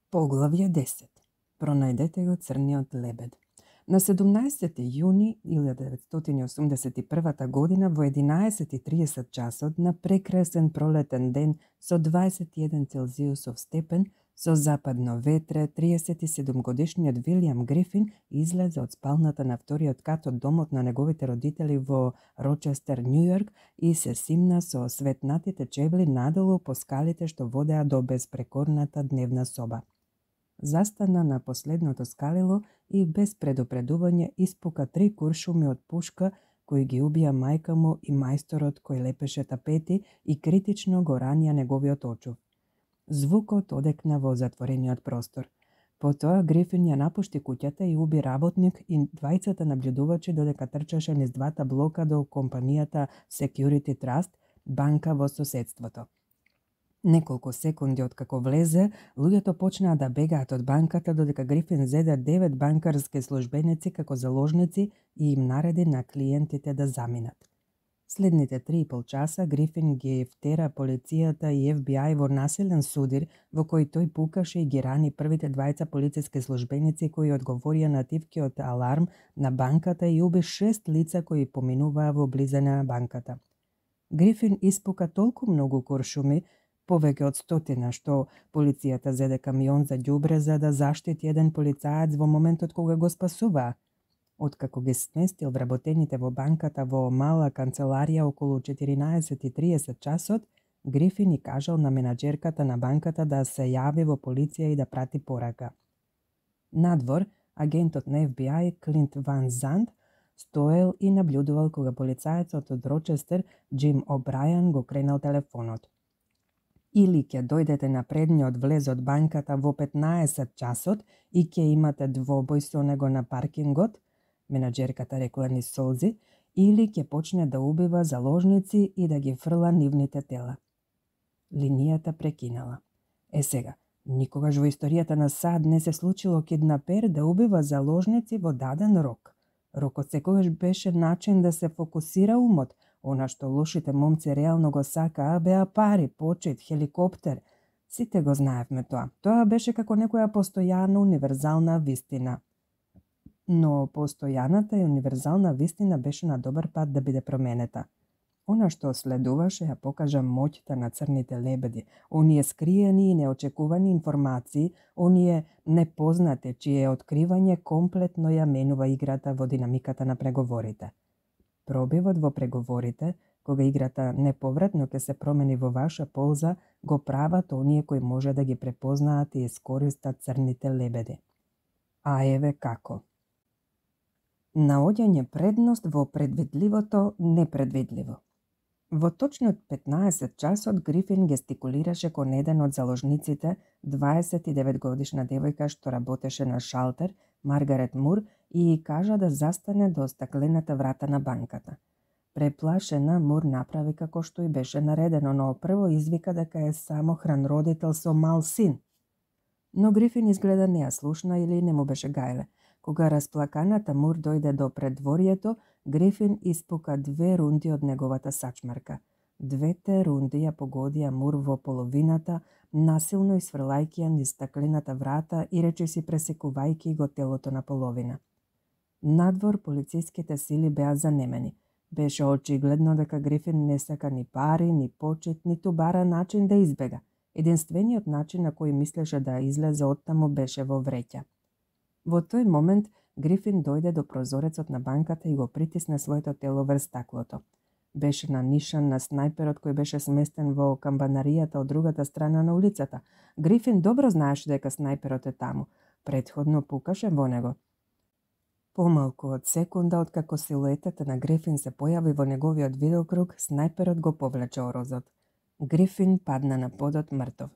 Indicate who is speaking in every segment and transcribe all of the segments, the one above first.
Speaker 1: Поглавје 10. Пронајдете го црниот лебед. На 17. јуни 1981 година во 11:30 часот на прекрасен пролетен ден со 21 Целзиусов степен со западно ветре, 37-годишниот Вилијам Грифин излезе од спалната на вториот кат од домот на неговите родители во Рочестер, Њујорк и се симна со светнатите чебли надолу по скалите што водеа до безпрекорната дневна соба. Застана на последното скалило и без предупредување испука 3 куршуми од пушка кои ги убија мајка му и мајсторот кој лепеше тапети и критично го ранија неговиот очув. Звукот одекна во затворениот простор. Потоа Грифин ја напушти куќата и уби работник и двајцата наблюдувачи додека трчаше низ двата блока до компанијата Security Trust, банка во соседството. Неколку секунди откако влезе, луѓето почнаа да бегаат од банката додека Грифин зеде 9 банкарски службеници како заложници и им нареди на клиентите да заминат. Следните 3,5 часа Грифин ги втера полицијата и FBI во насилен судир во кој тој пукаше и ги рани првите двајца полициски службеници кои одговорија на тивкиот аларм на банката и уби 6 лица кои поминуваа во близина на банката. Грифин испука толку многу куршуми, повеќе од 100, што полицијата зеде камион за ѓубре за да заштити еден полицаец во моментот кога го спасуваа. Откако ги сместил вработените во банката во мала канцеларија околу 14:30 часот, Грифин и кажал на менаџерката на банката да се јави во полиција и да прати порака. Надвор, агентот на FBI Клинт Ван Зант стоел и наблюдувал кога полицаецот од Рочестер Џим О'Брајан го кренал телефонот. Или ќе дојдете на предниот влез од банката во 15 часот и ќе имате двобој со него на паркингот, менаџерката рекла низ солзи, или ќе почне да убива заложници и да ги фрла нивните тела. Линијата прекинала. Сега, никогаш во историјата на САД не се случило киднапер да убива заложници во даден рок. Рокот секогаш беше начин да се фокусира умот. Она што лошите момци реално го сакаа беа пари, почит, хеликоптер. Сите го знаевме тоа. Тоа беше како некоја постојана универзална вистина. Но постојаната и универзална вистина беше на добар пат да биде променета. Она што следуваше ја покажа моќта на црните лебеди, оние скриени и неочекувани информации, оние непознати чие откривање комплетно ја менува играта во динамиката на преговорите. Пробивот во преговорите, кога играта неповратно ќе се промени во ваша полза, го прават оние кои може да ги препознаат и искористат црните лебеди. А еве како. Наоѓање предност во предвидливото непредвидливо. Во точно 15 часот Грифин гестикулираше кон еден од заложниците, 29-годишна девојка што работеше на шалтер, Маргарет Мур, и кажа да застане до стаклената врата на банката. Преплашена, Мур направи како што и беше наредено, но прво извика дека е самохран родител со мал син. Но Грифин изгледа не ја слушна или не му беше гајле. Кога расплаканата Мур дојде до предворието, Грифин испука 2 рунди од неговата сачмарка. 2 рунди ја погодија Мур во половината, насилно изфрлајќи ја низ стаклената врата и речиси пресекувајќи го телото на половина. Надвор полициските сили беа занемени. Беше очигледно дека Грифин не сака ни пари, ни почит, ниту бара начин да избега. Единствениот начин на кој мислеше да излезе оттаму беше во вреќа. Во тој момент Грифин дојде до прозорецот на банката и го притисне своето тело врз стаклото. Беше на нишан на снајперот кој беше сместен во камбанаријата од другата страна на улицата. Грифин добро знаеше дека снајперот е таму. Претходно пукаше во него. Помалку од секунда откако силуетата на Грифин се појави во неговиот видеокруг, снајперот го повлече орозот. Грифин падна на подот мртов.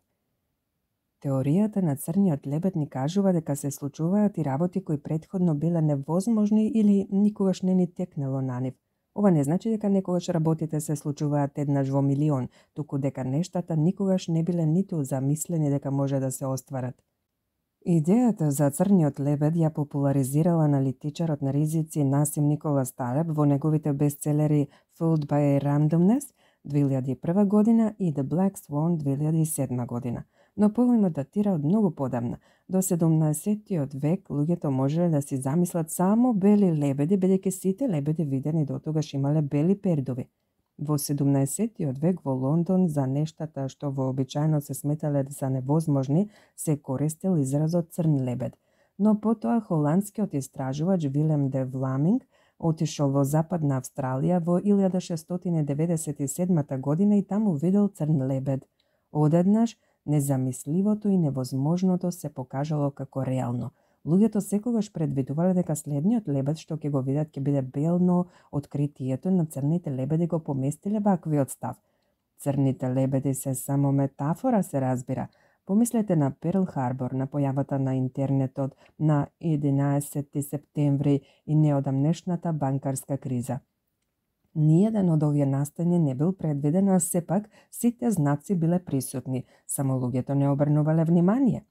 Speaker 1: Теоријата на црниот лебед ни кажува дека се случуваат и работи кои претходно биле невозможни или никогаш не ни текнело на нив. Ова не значи дека некогаш работите се случуваат еднаш во милион, туку дека нештата никогаш не биле ниту замислени дека може да се остварат. Идејата за црниот лебед ја популаризирала аналитичарот на ризици Насим Николас Талеб во неговите бестселери Fooled by Randomness 2001 година и The Black Swan 2007 година. но поимот датира од многу подамна. До 17-тиот век луѓето можеле да си замислат само бели лебеди, бидејќи сите лебеди видени дотогаш имале бели пердови. Во 17-тиот век во Лондон за нештата што вообичаено се сметале за невозможни се користел изразот црн лебед. Но потоа холандскиот истражувач Вилем де Вламинг отишол во Западна Австралија во 1697 година и таму видел црн лебед. Одеднаш, незамисливото и невозможното се покажало како реално. Луѓето секогаш предвидувале дека следниот лебед што ќе го видат ќе биде бел, но откритието на црните лебеди го поместиле ваквиот став. Црните лебеди се само метафора, се разбира. Помислете на Перл Харбор, на појавата на интернетот на 11 септември и неодамнешната банкарска криза. Ниеден од овие настани не бил предвиден, а сепак сите знаци биле присутни, само луѓето не обрнувале внимание.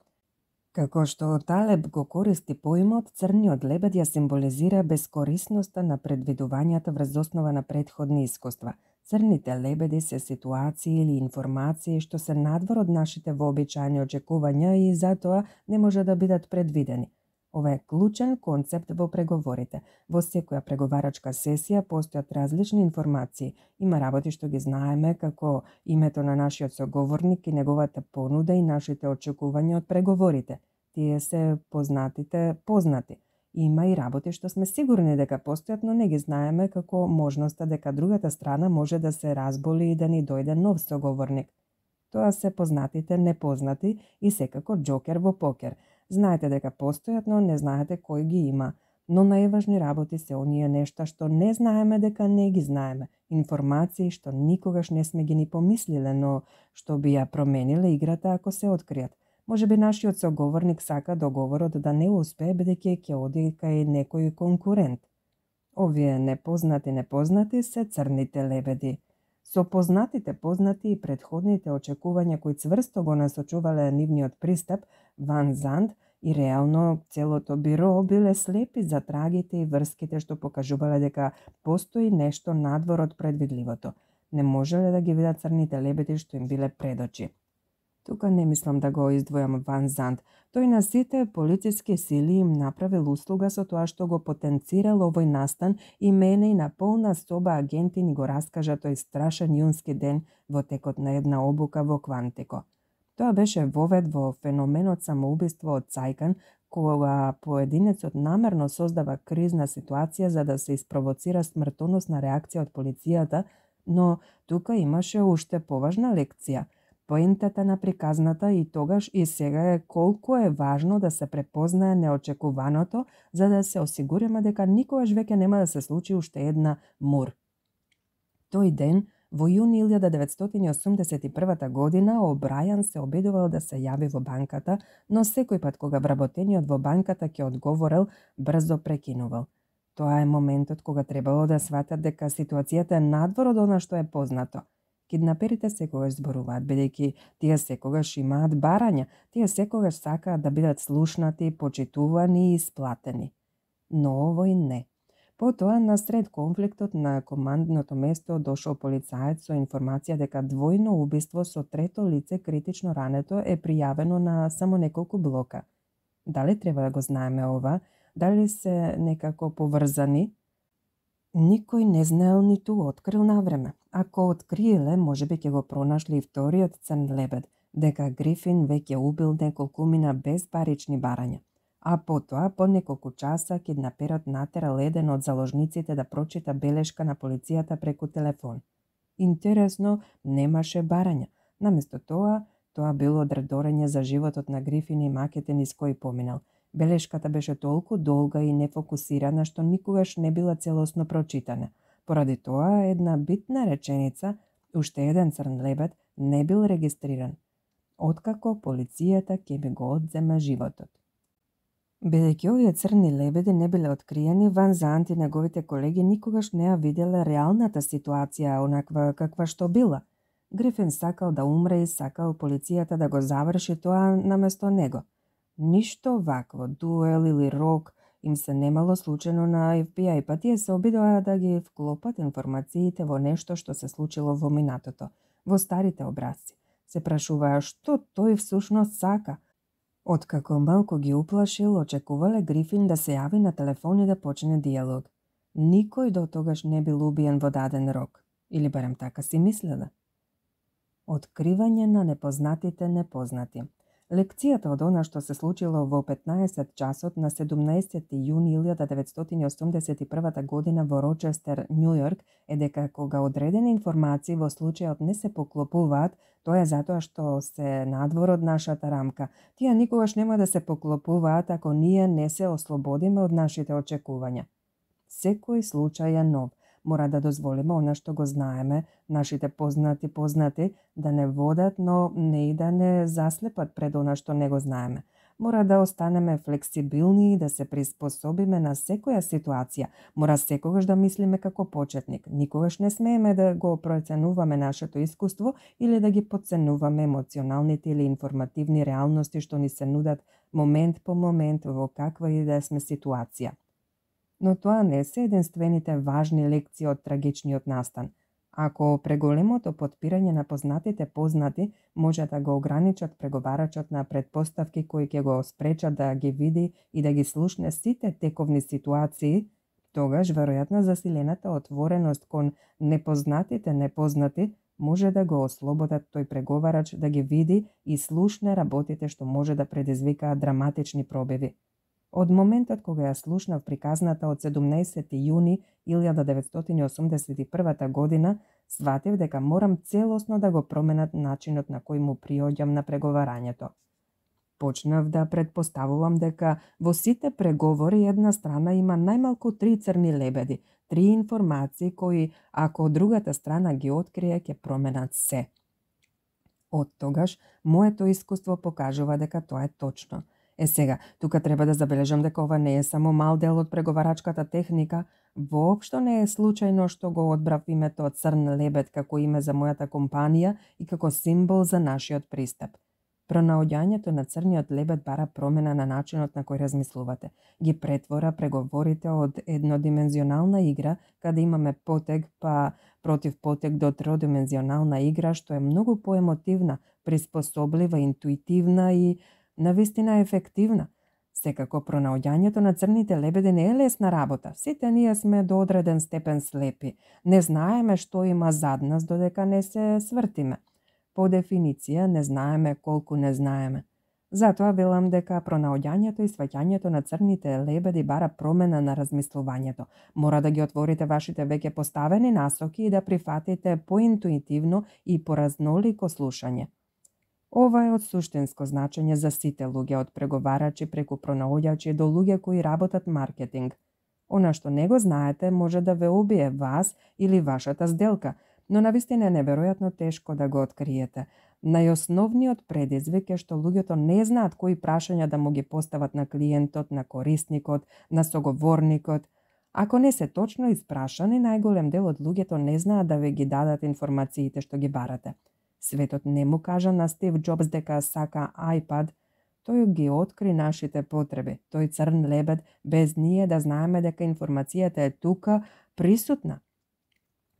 Speaker 1: Како што Талеб го користи поимот, црниот лебед ја символизира бескорисноста на предвидувањата врз основа на претходни искуства. Црните лебеди се ситуации или информации што се надвор од нашите вообичаени очекувања и затоа не може да бидат предвидени. Ова е клучен концепт во преговорите. Во секоја преговарачка сесија постојат различни информации. Има работи што ги знаеме, како името на нашиот соговорник и неговата понуда и нашите очекувања од преговорите. Тие се познати. Има и работи што сме сигурни дека постојат, но не ги знаеме, како можноста дека другата страна може да се разболи и да ни дојде нов соговорник. Тоа се познатите непознати и секако џокер во покер. Знаете дека постојат, но не знаете кој ги има. Но најважни работи се оние нешта што не знаеме дека не ги знаеме. Информации што никогаш не сме ги ни помислиле, но што би ја промениле играта ако се откријат. Може би нашиот соговорник сака договорот да не успее, бидејќи ќе оди кај некој конкурент. Овие непознати се црните лебеди. Со познатите познати и предходните очекувања кои цврсто го насочувале нивниот пристап, Ван Зант и реално целото биро биле слепи за трагите и врските што покажувале дека постои нешто надвор од предвидливото. Не можеле да ги видат црните лебеди што им биле пред очи. Тука не мислам да го издвојам Ван Зант. Тој на сите полициски сили им направил услуга со тоа што го потенцирал овој настан и мене и на полна соба агенти ни го раскажа тој страшен јунски ден во текот на една обука во Квантико. Тоа беше вовед во феноменот самоубиство од Цајкан, кога поединецот намерно создава кризна ситуација за да се испровоцира смртоносна реакција од полицијата, но тука имаше уште поважна лекција. Поентата на приказната и тогаш и сега е колку е важно да се препознае неочекуваното, за да се осигуриме дека никогаш веќе нема да се случи уште една МУР. Тој ден, во јуни 1981 година, О'Брајан се обидувал да се јави во банката, но секој пат кога вработениот во банката ќе одговорел, брзо прекинувал. Тоа е моментот кога требало да сватат дека ситуацијата е надвор од она што е познато. Киднаперите секогаш зборуваат, бидејќи тие секогаш имаат барања, тие секогаш сакаат да бидат слушнати, почитувани и исплатени. Но овој не. Потоа, насред конфликтот на командното место, дошол полицаец со информација дека двојно убиство со трето лице критично рането е пријавено на само неколку блока. Дали треба да го знаеме ова? Дали се некако поврзани? Никој не знаел ниту открил навреме. Ако откриеле, можеби ќе го пронашле и вториот црн лебед, дека Грифин веќе убил неколкумина без парични барања. А потоа, по неколку часа, киднаперот натерал еден од заложниците да прочита белешка на полицијата преку телефон. Интересно, немаше барања. Наместо тоа било одредорење за животот на Грифин и макете низ кој поминал. Белешката беше толку долга и нефокусирана што никогаш не била целосно прочитана. Поради тоа, една битна реченица, уште еден црн лебед, не бил регистриран. Откако полицијата ќе би го одземе животот. Бидејќи овие црни лебеди не биле откриени, Ван Зант и неговите колеги никогаш не ја виделе реалната ситуација, онаква каква што била. Грифин сакал да умре и сакал полицијата да го заврши тоа наместо него. Ништо вакво, дуел или рок, им се немало случено на FBI, па тие се обидоа да ги вклопат информациите во нешто што се случило во минатото, во старите образци. Се прашуваа што тој всушност сака. Откако малку ги уплашил, очекувале Грифин да се јави на телефон и да почне диалог. Никој до тогаш не бил убиен во даден рок, или барем така си мислеле. Откривање на непознатите непознати. Лекцијата од она што се случило во 15 часот на 17 јуни 1981 година во Рочестер, Њу Јорк, е дека кога одредени информации во случајот не се поклопуваат, тоа е затоа што се надвор од нашата рамка. Тие никогаш нема да се поклопуваат ако ние не се ослободиме од нашите очекувања. Секој случај е нов. Мора да дозволиме она што го знаеме, нашите познати, да не водат, но не и да не заслепат пред она што не го знаеме. Мора да останеме флексибилни и да се приспособиме на секоја ситуација. Мора секогаш да мислиме како почетник. Никогаш не смееме да го проценуваме нашето искуство или да ги подценуваме емоционалните или информативни реалности што ни се нудат момент по момент во каква и да сме ситуација. Но тоа не се единствените важни лекции од трагичниот настан. Ако преголемото потпирање на познатите познати може да го ограничат преговарачот на предпоставки кои ќе го спречат да ги види и да ги слушне сите тековни ситуации, тогаш веројатно засилената отвореност кон непознатите непознати може да го ослободат тој преговарач да ги види и слушне работите што може да предизвикаат драматични пробиви. Од моментот кога ја слушнав приказната од 17 јуни 1981 година, сватив дека морам целосно да го променат начинот на кој му приоѓам на преговарањето. Почнав да предпоставувам дека во сите преговори една страна има најмалку 3 црни лебеди, 3 информации кои, ако другата страна ги открие, ќе променат се. Од тогаш, моето искуство покажува дека тоа е точно. Сега, тука треба да забележам дека ова не е само мал дел од преговарачката техника, воопшто не е случајно што го одбрав името Црн лебед како име за мојата компанија и како символ за нашиот пристап. Пронаоѓањето на црниот лебед бара промена на начинот на кој размислувате. Ги претвора преговорите од еднодимензионална игра, каде имаме потег па против потег до тродимензионална игра, што е многу поемотивна, приспособлива, интуитивна и навистина ефективна. Секако пронаоѓањето на црните лебеди не е лесна работа. Сите ние сме до одреден степен слепи. Не знаеме што има зад нас додека не се свртиме. По дефиниција не знаеме колку не знаеме. Затоа велам дека пронаоѓањето и сваќањето на црните лебеди бара промена на размислувањето. Мора да ги отворите вашите веќе поставени насоки и да прифатите поинтуитивно и поразнолико слушање. Ова е од суштинско значење за сите луѓе, од преговарачи преку пронаоѓачи до луѓе кои работат маркетинг. Она што не го знаете може да ве убие вас или вашата сделка, но навистина е неверојатно тешко да го откриете. Најосновниот предизвик е што луѓето не знаат кои прашања да му ги постават на клиентот, на корисникот, на соговорникот. Ако не се точно испрашани, најголем дел од луѓето не знаат да ве ги дадат информациите што ги барате. Светот не му кажа на Стив Џобс дека сака iPad, тој ги откри нашите потреби. Тој црн лебед, без ние да знаеме дека информацијата е тука, присутна.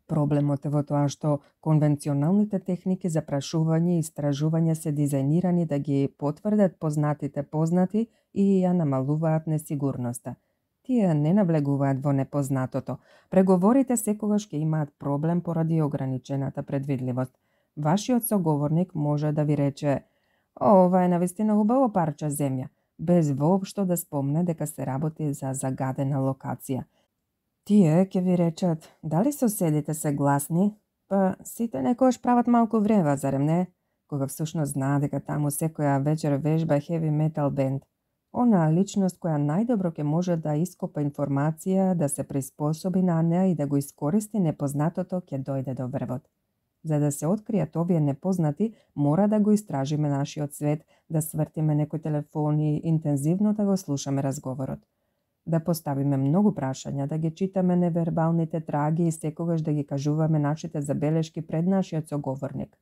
Speaker 1: Проблемот е во тоа што конвенционалните техники за прашување и истражување се дизајнирани да ги потврдат познатите познати и ја намалуваат несигурноста. Тие не навлегуваат во непознатото. Преговорите секогаш ќе имаат проблем поради ограничената предвидливост. Вашиот соговорник може да ви рече: ова е навистина убаво парче земја, без воопшто да спомне дека се работи за загадена локација. Тие ќе ви речат: дали соседите се гласни? Па сите некојаш прават малку врева, зарем не? Кога всушност знаа дека таму секоја вечер вежба heavy metal band. Онаа личност која најдобро ќе може да ископа информација, да се приспособи на неа и да го искористи непознатото, ќе дојде до врвот. За да се откријат овие непознати, мора да го истражиме нашиот свет, да свртиме некој телефон и интензивно да го слушаме разговорот. Да поставиме многу прашања, да ги читаме невербалните траги и секогаш да ги кажуваме нашите забелешки пред нашиот соговорник.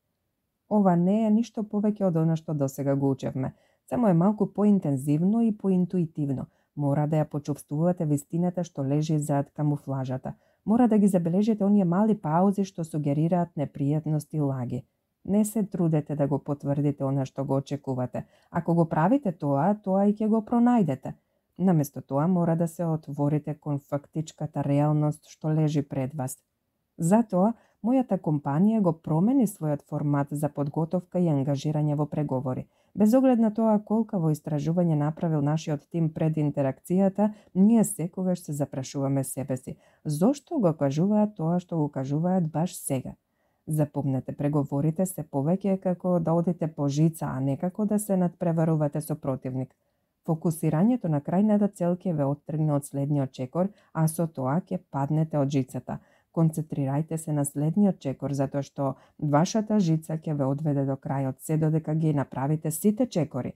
Speaker 1: Ова не е ништо повеќе од она што досега го учевме, само е малку поинтензивно и поинтуитивно. Мора да ја почувствувате вистината што лежи зад камуфлажата. Мора да ги забележите оние мали паузи што сугерираат непријатност и лаги. Не се трудете да го потврдите она што го очекувате. Ако го правите тоа и ќе го пронајдете. Наместо тоа мора да се отворите кон фактичката реалност што лежи пред вас. Затоа, мојата компанија го промени својот формат за подготовка и ангажирање во преговори. Без оглед на тоа колкаво истражување направил нашиот тим пред интеракцијата, ние секогаш се запрашуваме себе си. Зошто го кажуваат тоа што го кажуваат баш сега? Запомнете, преговорите се повеќе како да одите по жица, а не како да се надпреварувате со противник. Фокусирањето на крајната цел ќе ве оттргне од следниот чекор, а со тоа ќе паднете од жицата. Концентрирајте се на следниот чекор, затоа што вашата жица ќе ве одведе до крајот, се додека ги направите сите чекори.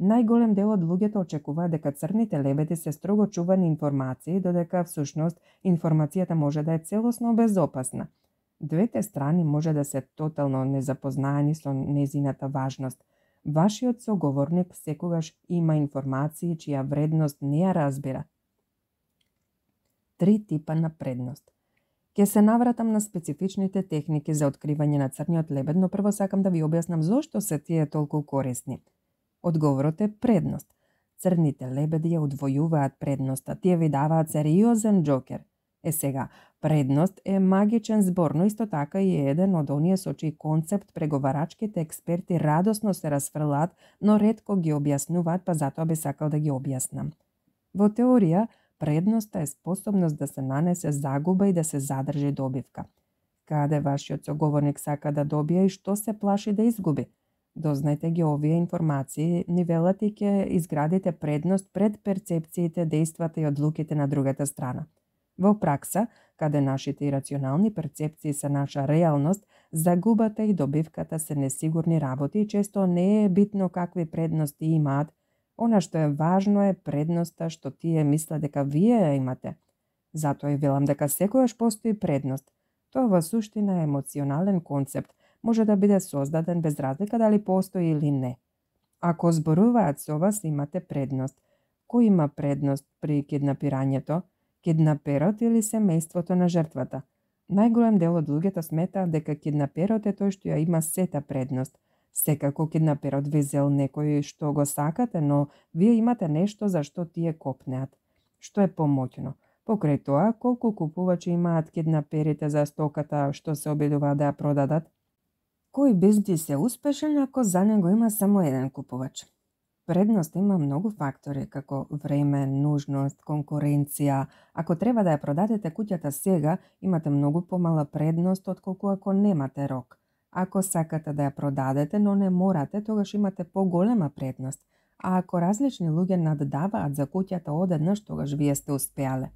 Speaker 1: Најголем дел од луѓето очекуваат дека црните лебеди се строго чувани информации, додека всушност информацијата може да е целосно безопасна. Двете страни може да се тотално незапознаени со незината важност. Вашиот соговорник секогаш има информации чија вредност не ја разбира. 3 типа на предност. Ке се навратам на специфичните техники за откривање на црниот лебед, но прво сакам да ви објаснам зошто се тие толку корисни. Одговорот е предност. Црните лебеди ја удвојуваат предноста, тие ви даваат сериозен џокер. Сега, предност е магичен збор, но исто така и е еден од оние со чиј концепт преговарачките експерти радосно се расфрлаат, но ретко ги објаснуваат, па затоа би сакал да ги објаснам. Во теорија, предноста е способност да се нанесе загуба и да се задржи добивка. Каде вашиот соговорник сака да добие и што се плаши да изгуби? Дознајте ги овие информации, нивелате и ќе изградите предност пред перцепциите, дејствата и одлуките на другата страна. Во пракса, каде нашите ирационални перцепции се наша реалност, загубата и добивката се несигурни работи и често не е битно какви предности имаат. Она што е важно е предноста што тие мислат дека вие ја имате. Затоа и велам дека секогаш постои предност. Тоа во суштина е емоционален концепт, може да биде создаден без разлика дали постои или не. Ако зборуваат со вас, имате предност. Кој има предност при киднапирањето? Киднаперот или семејството на жртвата? Најголем дел од луѓето сметаат дека киднаперот е тој што ја има сета предност. Секако киднаперот ви зел некој што го сакате, но вие имате нешто за што тие копнеат. Што е помоќно? Покрај тоа, колку купувачи имаат киднаперите за стоката што се обидуваат да ја продадат? Кој бизнис е успешен ако за него има само еден купувач? Предност има многу фактори, како време, нужност, конкуренција. Ако треба да ја продадете куќата сега, имате многу помала предност отколку ако немате рок. Ако сакате да ја продадете, но не морате, тогаш имате поголема предност. А ако различни луѓе наддаваат за куќата одеднаш, тогаш вие сте успеале.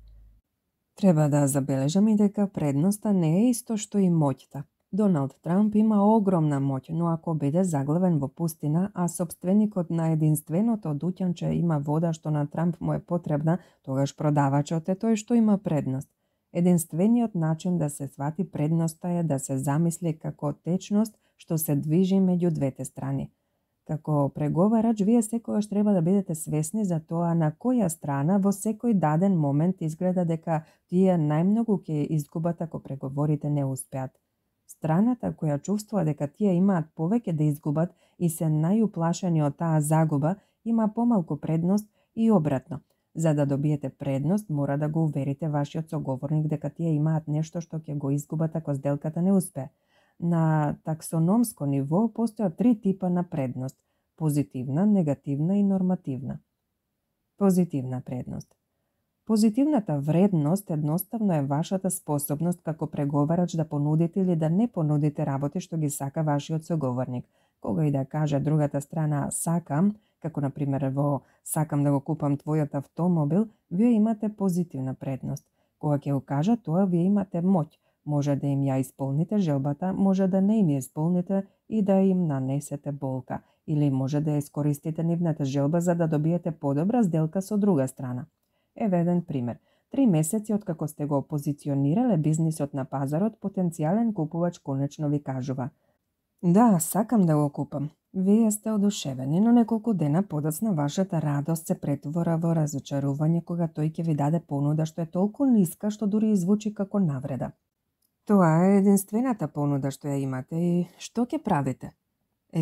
Speaker 1: Треба да забележам и дека предноста не е исто што и моќта. Доналд Трамп има огромна моќ, но ако биде заглавен во пустина, а собственикот на единственото дуќанче има вода што на Трамп му е потребна, тогаш продавачот е тој што има предност. Единствениот начин да се свати предноста е да се замисли како течност што се движи меѓу двете страни. Како преговарач, вие секогаш треба да бидете свесни за тоа на која страна во секој даден момент изгледа дека тие најмногу ќе изгубат ако преговорите не успеат. Страната која чувствува дека тие имаат повеќе да изгубат и се најуплашени од таа загуба, има помалку предност и обратно. За да добиете предност, мора да го уверите вашиот соговорник дека тие имаат нешто што ќе го изгубат ако сделката не успее. На таксономско ниво постојат 3 типа на предност – позитивна, негативна и нормативна. Позитивна предност. Позитивната вредност едноставно е вашата способност како преговарач да понудите или да не понудите работи што ги сака вашиот соговорник. Кога и да каже другата страна сакам, како например во сакам да го купам твојот автомобил, вие имате позитивна предност. Кога ќе го кажа тоа, вие имате моќ. Може да им ја исполните желбата, може да не им ја исполните и да им нанесете болка, или може да ја искористите нивната желба за да добиете подобра сделка со друга страна. Еве еден пример. 3 месеци откако сте го позиционирале бизнисот на пазарот, потенцијален купувач конечно ви кажува: да, сакам да го купам. Вие сте одушевени, но неколку дена подоцна вашата радост се претвора во разочарување кога тој ќе ви даде понуда што е толку ниска што дури звучи како навреда. Тоа е единствената понуда што ја имате и што ќе правите?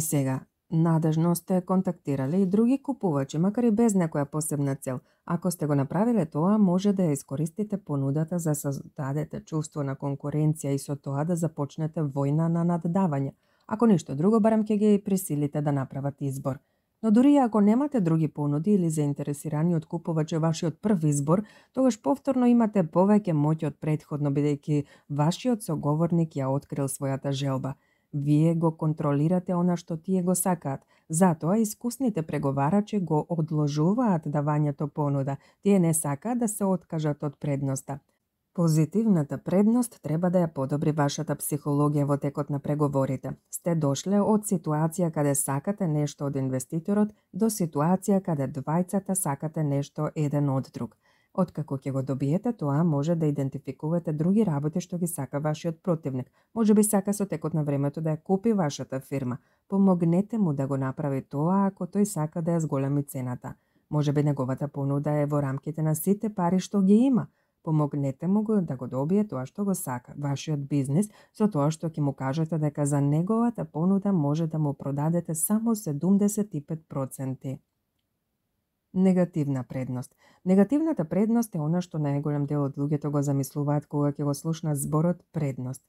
Speaker 1: Сега, надежно сте контактирале и други купувачи, макар и без некоја посебна цел. Ако сте го направиле тоа, може да ја искористите понудата за создадете чувство на конкуренција и со тоа да започнете војна на наддавање. Ако ништо друго, барем ќе ги присилите да направат избор. Но дури и ако немате други понуди или заинтересирани од купувачи вашиот прв избор, тогаш повторно имате повеќе моќ од претходно, бидејќи вашиот соговорник ја открил својата желба. Вие го контролирате она што тие го сакаат. Затоа искусните преговарачи го одложуваат давањето понуда. Тие не сакаат да се откажат од предноста. Позитивната предност треба да ја подобри вашата психологија во текот на преговорите. Сте дошле од ситуација каде сакате нешто од инвеститорот до ситуација каде двајцата сакате нешто еден од друг. Откако ќе го добиете тоа, може да идентификувате други работи што ги сака вашиот противник. Може би сака со текот на времето да ја купи вашата фирма. Помогнете му да го направи тоа ако тој сака да ја зголеми цената. Може би неговата понуда е во рамките на сите пари што ги има. Помогнете му да го добие тоа што го сака, вашиот бизнис, со тоа што ќе му кажете дека за неговата понуда може да му продадете само 75%. Негативна предност. Негативната предност е она што најголем дел од луѓето го замислуваат кога ќе го слушнат зборот предност.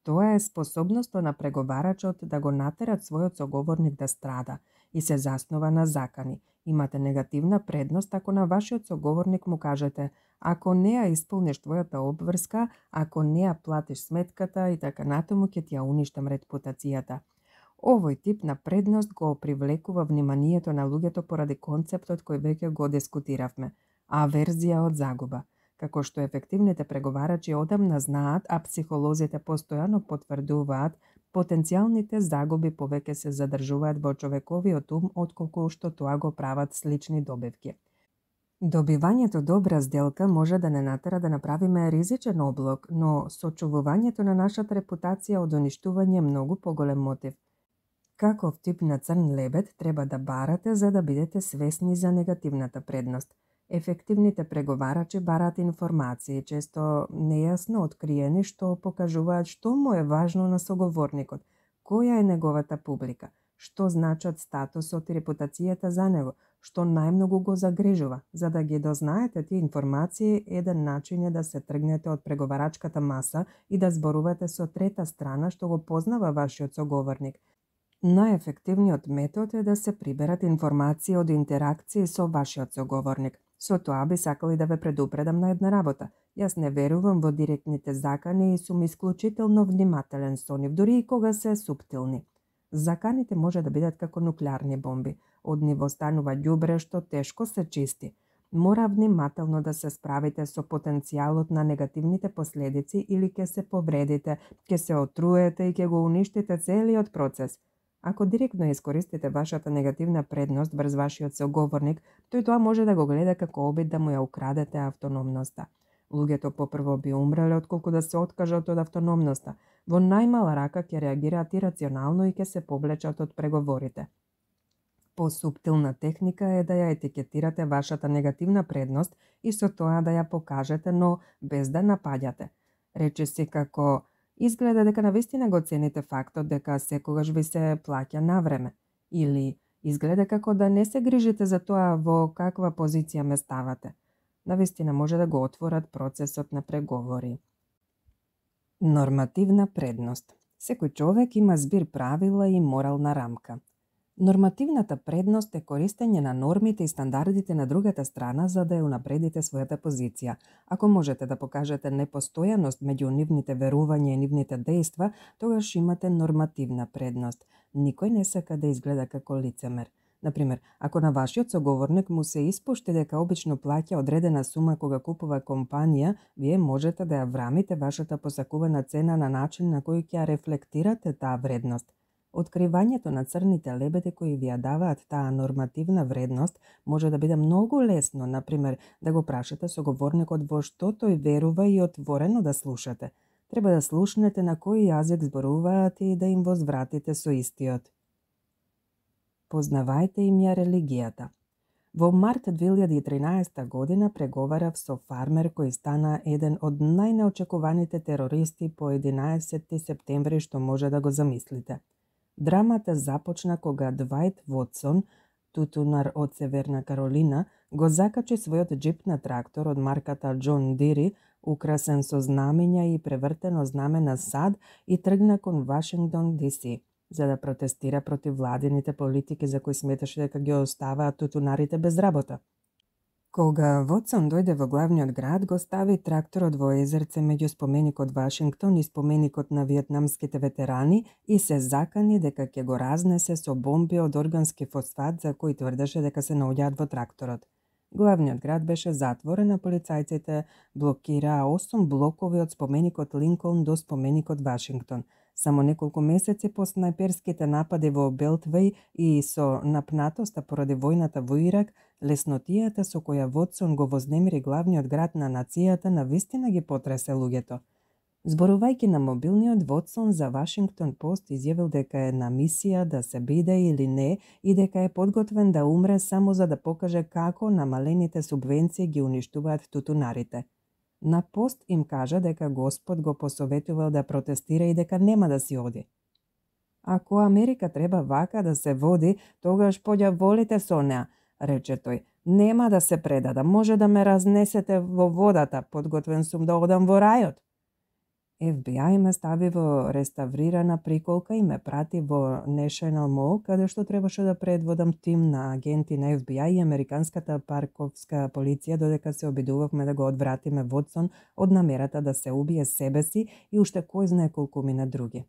Speaker 1: Тоа е способноста на преговарачот да го натерат својот соговорник да страда и се заснова на закани. Имате негативна предност ако на вашиот соговорник му кажете: ако не ја исполниш твојата обврска, ако не ја платиш сметката и така натаму, ќе ти ја уништам репутацијата. Овој тип на предност го привлекува вниманието на луѓето поради концептот кој веќе го дискутиравме – аверзија од загуба. Како што ефективните преговарачи одамна знаат, а психолозите постојано потврдуваат, потенцијалните загуби повеќе се задржуваат во човековиот ум отколку што тоа го прават слични добивки. Добивањето добра сделка може да не натера да направиме ризичен облог, но сочувувањето на нашата репутација од уништување е многу поголем мотив. Каков тип на црн лебед треба да барате за да бидете свесни за негативната предност? Ефективните преговарачи бараат информации, често нејасно откриени, што покажуваат што му е важно на соговорникот, која е неговата публика, што значат статусот и репутацијата за него, што најмногу го загрижува. За да ги дознаете тие информации, еден начин е да се тргнете од преговарачката маса и да зборувате со трета страна што го познава вашиот соговорник. Најефективниот метод е да се приберат информации од интеракции со вашиот соговорник. Со тоа би сакали да ве предупредам на една работа. Јас не верувам во директните закани и сум исклучително внимателен со нив, дури и кога се суптилни. Заканите може да бидат како нуклеарни бомби. Од ниво станува ѓубре што тешко се чисти. Мора внимателно да се справите со потенцијалот на негативните последици или ќе се повредите, ќе се отруете и ќе го уништите целиот процес. Ако директно искористите вашата негативна предност врз вашиот соговорник, тој тоа може да го гледа како обид да му ја украдете автономноста. Луѓето попрво би умреле отколку да се откажат од автономноста. Во најмала рака ќе реагираат ирационално и ќе се повлечат од преговорите. Посуптилна техника е да ја етикетирате вашата негативна предност и со тоа да ја покажете, но без да напаѓате. Речиси како: изгледа дека навистина го цените фактот дека секогаш ви се плаќа на време. Или изгледа како да не се грижите за тоа во каква позиција ме ставате. Навистина може да го отворат процесот на преговори. Нормативна предност. Секој човек има збир правила и морална рамка. Нормативната предност е користење на нормите и стандардите на другата страна за да ја унапредите својата позиција. Ако можете да покажете непостојаност меѓу нивните верувања и нивните дејства, тогаш имате нормативна предност. Никој не сака да изгледа како лицемер. Например, ако на вашиот соговорник му се испушти дека обично плаќа одредена сума кога купува компанија, вие можете да ја врамите вашата посакувана цена на начин на кој ќе ја рефлектирате таа вредност. Откривањето на црните лебеди кои ви ја даваат таа нормативна вредност може да биде многу лесно, например, да го прашате соговорникот во што тој верува и отворено да слушате. Треба да слушнете на кој јазик зборуваат и да им возвратите со истиот. Познавајте им ја религијата. Во март 2013 година преговарав со фармер кој стана еден од најнеочекуваните терористи по 11 септември што може да го замислите. Драмата започна кога Двајт Вотсон, тутунар од Северна Каролина, го закачи својот џип на трактор од марката Џон Дири, украсен со знамења и превртено знаме на САД, и тргна кон Вашингтон ДС, за да протестира против владините политики за кои сметаше дека ги оставаат тутунарите без работа. Кога Вотсон дојде во главниот град, го стави тракторот во езерце меѓу споменикот Вашингтон и споменикот на виетнамските ветерани и се закани дека ќе го разнесе со бомби од органски фосфат за кои тврдеше дека се наоѓаат во тракторот. Главниот град беше затворен, а полицајците блокираа 8 блокови од споменикот Линколн до споменикот Вашингтон. Само неколку месеци по снајперските напади во Белтвеј и со напнатоста поради војната во Ирак, леснотијата со која Вотсон го вознемири главниот град на нацијата навистина ги потресе луѓето. Зборувајќи на мобилниот, Вотсон за Вашингтон Пост изјавил дека е на мисија да се биде или не и дека е подготвен да умре само за да покаже како намалените субвенции ги уништуваат тутунарите. На Пост им кажа дека Господ го посоветувал да протестира и дека нема да си оди. Ако Америка треба вака да се води, тогаш поѓа волите со неа, рече тој. Нема да се предада, може да ме разнесете во водата, подготвен сум да одам во рајот. FBI ме стави во реставрирана приколка и ме прати во National Mall, каде што требаше да предводам тим на агенти на FBI и американската парковска полиција, додека се обидувавме да го одвратиме Вотсон од намерата да се убие себе си и уште кој знае колку мина други.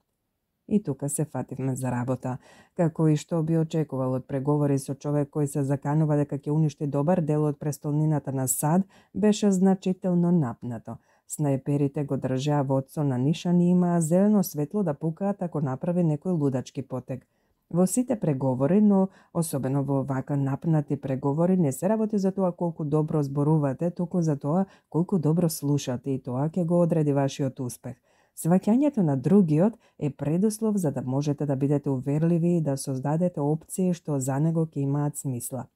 Speaker 1: И тука се фативме за работа. Како и што би очекувал од преговори со човек кој се заканува дека ќе уништи добар дел од престолнината на САД, беше значително напнато. Снајперите го држаа Вотсон на нишан и имаа зелено светло да пукаат ако направи некој лудачки потег. Во сите преговори, но особено во вака напнати преговори, не се работи за тоа колку добро зборувате, туку за тоа колку добро слушате, и тоа ќе го одреди вашиот успех. Сваќањето на другиот е предуслов за да можете да бидете уверливи и да создадете опции што за него ќе имаат смисла.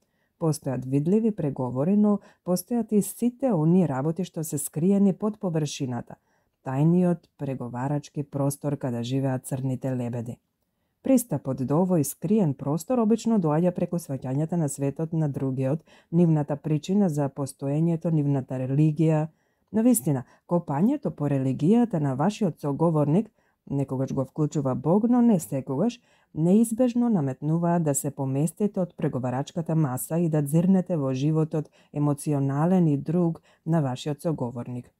Speaker 1: Постојат видливи преговори, но постојат и сите оние работи што се скриени под површината. Тајниот преговарачки простор каде живеат црните лебеди. Пристапот до овој скриен простор обично доаѓа преку сваќањата на светот на другиот, нивната причина за постоењето, нивната религија. На вистина, копањето по религијата на вашиот соговорник, некогаш го вклучува Бог, но не секогаш, неизбежно наметнуваат да се поместите од преговарачката маса и да дзирнете во животот емоционален и друг на вашиот соговорник.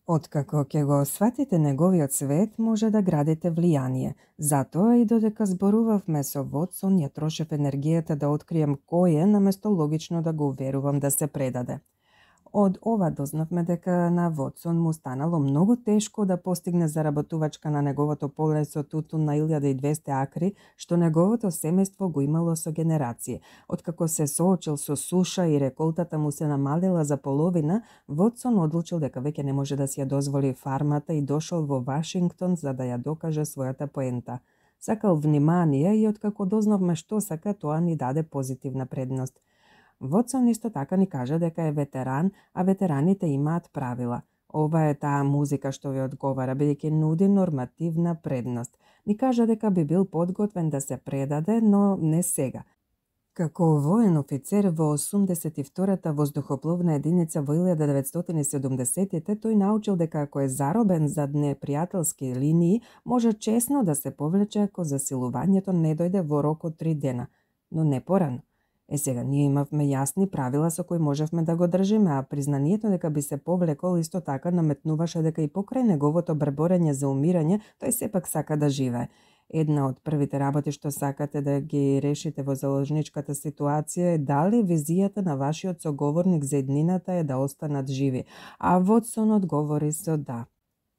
Speaker 1: Откако ќе го сватите неговиот свет, може да градите влијание. Затоа и додека зборувавме со Вотсон, ја трошев енергијата да открием кој е, наместо логично да го уверувам да се предаде. Од ова дознавме дека на Вотсон му станало многу тешко да постигне заработувачка на неговото поле со тутун на 1200 акри, што неговото семејство го имало со генерации. Откако се соочил со суша и реколтата му се намалила за половина, Вотсон одлучил дека веќе не може да си ја дозволи фармата и дошол во Вашингтон за да ја докаже својата поента. Сакал внимание и откако дознавме што сака, тоа ни даде позитивна предност. Вотсон исто така ни кажа дека е ветеран, а ветераните имаат правила. Ова е таа музика што ви одговара, бидејќи нуди нормативна предност. Ни кажа дека би бил подготвен да се предаде, но не сега. Како воен офицер во 82-та воздухопловна единица во 1970-те, тој научил дека ако е заробен зад непријателски линии, може чесно да се повлече ако засилувањето не дојде во рок од 3 дена, но не порано. Сега ние имавме јасни правила со кои можевме да го држиме, а признанието дека би се повлекол исто така наметнуваше дека и покрај неговото брборење за умирање, тој сепак сака да живее. Една од првите работи што сакате да ги решите во заложничката ситуација е дали визијата на вашиот соговорник за еднината е да останат живи, а Вотсон одговори со да.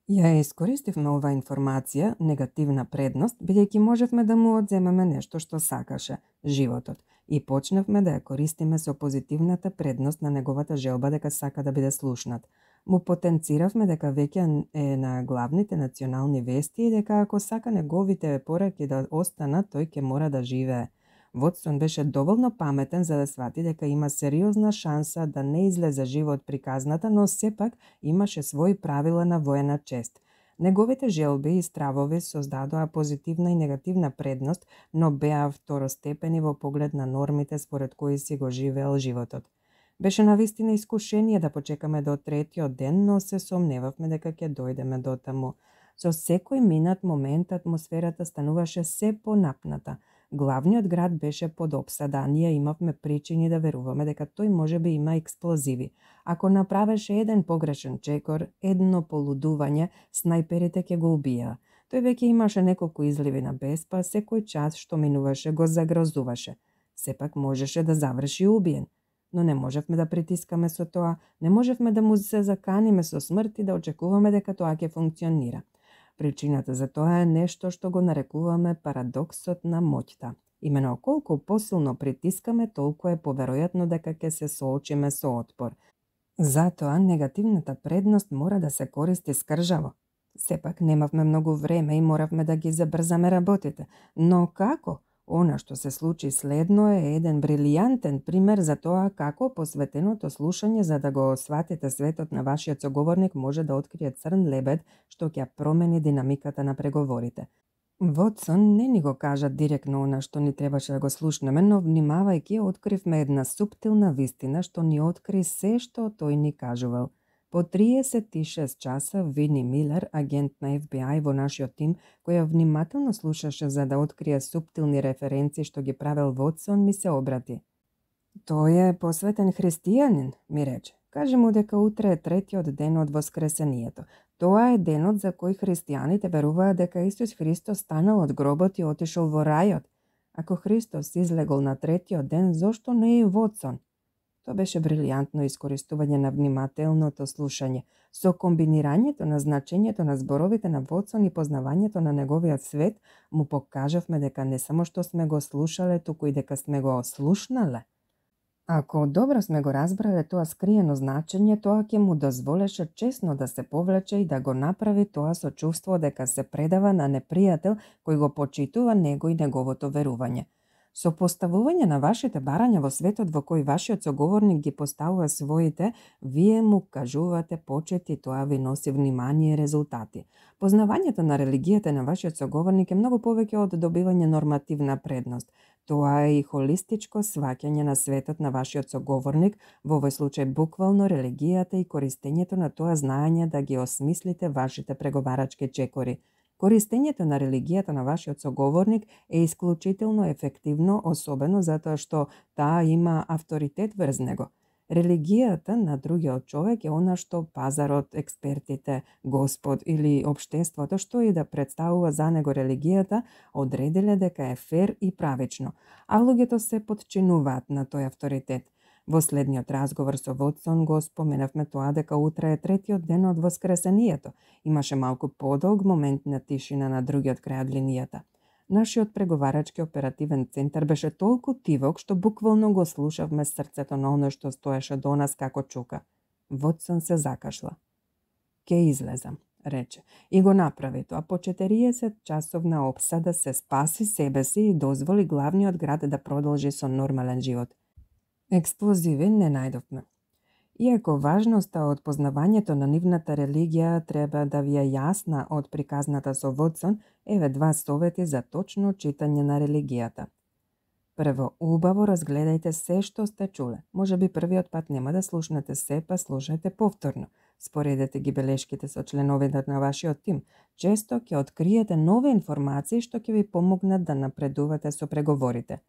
Speaker 1: Ја искористивме оваа информација, негативна предност, бидејќи можевме да му одземеме нешто што сакаше, животот, и почнавме да ја користиме со позитивната предност на неговата желба дека сака да биде слушнат. Му потенциравме дека веќе е на главните национални вести и дека ако сака неговите пораки да останат, тој ќе мора да живее. Вотсон беше доволно паметен за да свати дека има сериозна шанса да не излезе живо од приказната, но сепак имаше своји правила на воена чест. Неговите желби и стравови создадоа позитивна и негативна предност, но беа второстепени во поглед на нормите според кои си го живеел животот. Беше навистина искушение да почекаме до третиот ден, но се сомневавме дека ќе дојдеме до таму. Со секој минат момент атмосферата стануваше се понапната. Главниот град беше под опсада, а ние имавме причини да веруваме дека тој можеби има експлозиви. Ако направеше еден погрешен чекор, едно полудување, снајперите ќе го убија. Тој веќе имаше неколку изливи на бес, па секој час што минуваше го загрозуваше. Сепак можеше да заврши убиен. Но не можевме да притискаме со тоа, не можевме да му се заканиме со смрт и да очекуваме дека тоа ќе функционира. Причината за тоа е нешто што го нарекуваме парадоксот на моќта. Имено колку посилно притискаме, толку е поверојатно дека ќе се соочиме со отпор. Затоа негативната предност мора да се користи скржаво. Сепак немавме многу време и моравме да ги забрзаме работите. Но како? Она што се случи следно е еден брилијантен пример за тоа како посветеното слушање за да го сватите светот на вашиот соговорник може да открие црн лебед што ќе промени динамиката на преговорите. Вотсон не ни го кажа директно она што ни требаше да го слушнеме, но внимавајќи откривме една суптилна вистина што ни откри се што тој ни кажувал. По 36 часа Вини Милер, агент на FBI во нашиот тим, која внимателно слушаше за да открие суптилни референции што ги правел Вотсон, ми се обрати. Тој е посветен христијанин, ми рече. Кажи му дека утре е третиот ден од воскресението. Тоа е денот за кој христијаните веруваат дека Исус Христос станал од гробот и отишол во рајот. Ако Христос излегол на третиот ден, зошто не и Вотсон? Тоа беше брилијантно искористување на внимателното слушање. Со комбинирањето на значењето на зборовите на Вотсон и познавањето на неговиот свет, му покажавме дека не само што сме го слушале, туку и дека сме го слушнале. Ако добро сме го разбрале тоа скриено значење, тоа ќе му дозволеше чесно да се повлече и да го направи тоа со чувство дека се предава на непријател кој го почитува него и неговото верување. Со поставување на вашите барања во светот во кој вашиот соговорник ги поставува своите, вие му кажувате почет и тоа ви носи внимание и резултати. Познавањето на религијата на вашиот соговорник е многу повеќе од добивање нормативна предност. Тоа е и холистичко сваќање на светот на вашиот соговорник, во овој случај буквално религијата и користењето на тоа знаење да ги осмислите вашите преговарачки чекори. Користењето на религијата на вашиот соговорник е исклучително ефективно, особено затоа што таа има авторитет врз него. Религијата на другиот човек е она што пазарот, експертите, Господ или општеството, што и да представува за него религијата, одредиле дека е фер и правично, а луѓето се подчинуваат на тој авторитет. Во следниот разговор со Вотсон го споменавме тоа дека утре е третиот ден од воскресението. Имаше малку подолг момент на тишина на другиот крај од линијата. Нашиот преговарачки оперативен центар беше толку тивок што буквално го слушавме срцето на оној што стоеше до нас како чука. Вотсон се закашла. Ке излезам, рече, и го направи тоа. По 40 часовна опсада се спаси себе си и дозволи главниот град да продолжи со нормален живот. Експлозиви не најдовме. Иако важноста од познавањето на нивната религија треба да ви е јасна од приказната со Вотсон, еве два совети за точно читање на религијата. Прво, убаво разгледајте се што сте чуле. Можеби првиот пат нема да слушнете се, па слушајте повторно. Споредете ги белешките со членовите на вашиот тим. Често ќе откриете нови информации што ќе ви помогнат да напредувате со преговорите.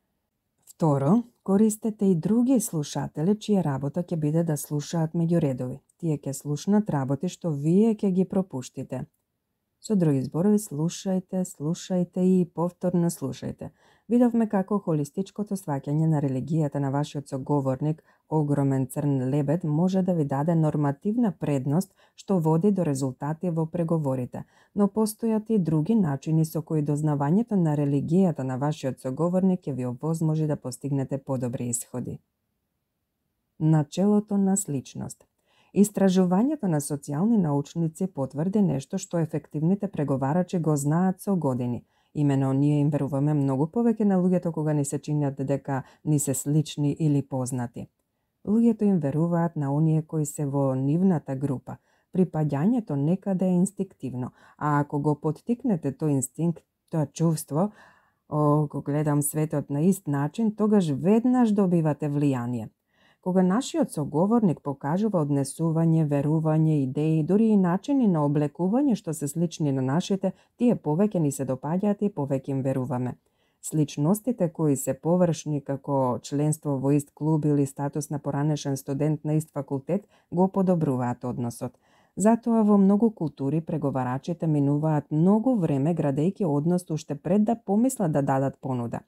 Speaker 1: Второ, користете и други слушатели чија работа ќе биде да слушаат меѓу редови. Тие ќе слушнат работи што вие ќе ги пропуштите. Со други зборови, слушајте и повторно слушајте. Видовме како холистичкото сваќање на религијата на вашиот соговорник, огромен црн лебед, може да ви даде нормативна предност што води до резултати во преговорите, но постојат и други начини со кои дознавањето на религијата на вашиот соговорник ќе ви овозможи да постигнете подобри исходи. Начелото на сличност. Истражувањето на социјални научници потврди нешто што ефективните преговарачи го знаат со години. Имено ние им веруваме многу повеќе на луѓето кога ни се чинат дека ни се слични или познати. Луѓето им веруваат на оние кои се во нивната група. Припаѓањето некаде е инстинктивно, а ако го поттикнете тој инстинкт, тоа чувство, го гледам светот на ист начин, тогаш веднаш добивате влијание. Кога нашиот соговорник покажува однесување, верување, идеи, дури и начини на облекување што се слични на нашите, тие повеќе ни се допаѓаат и повеќе им веруваме. Сличностите кои се површни како членство во ист клуб или статус на поранешен студент на ист факултет го подобруваат односот. Затоа во многу култури преговарачите минуваат многу време градејќи однос уште пред да помислат да дадат понуда.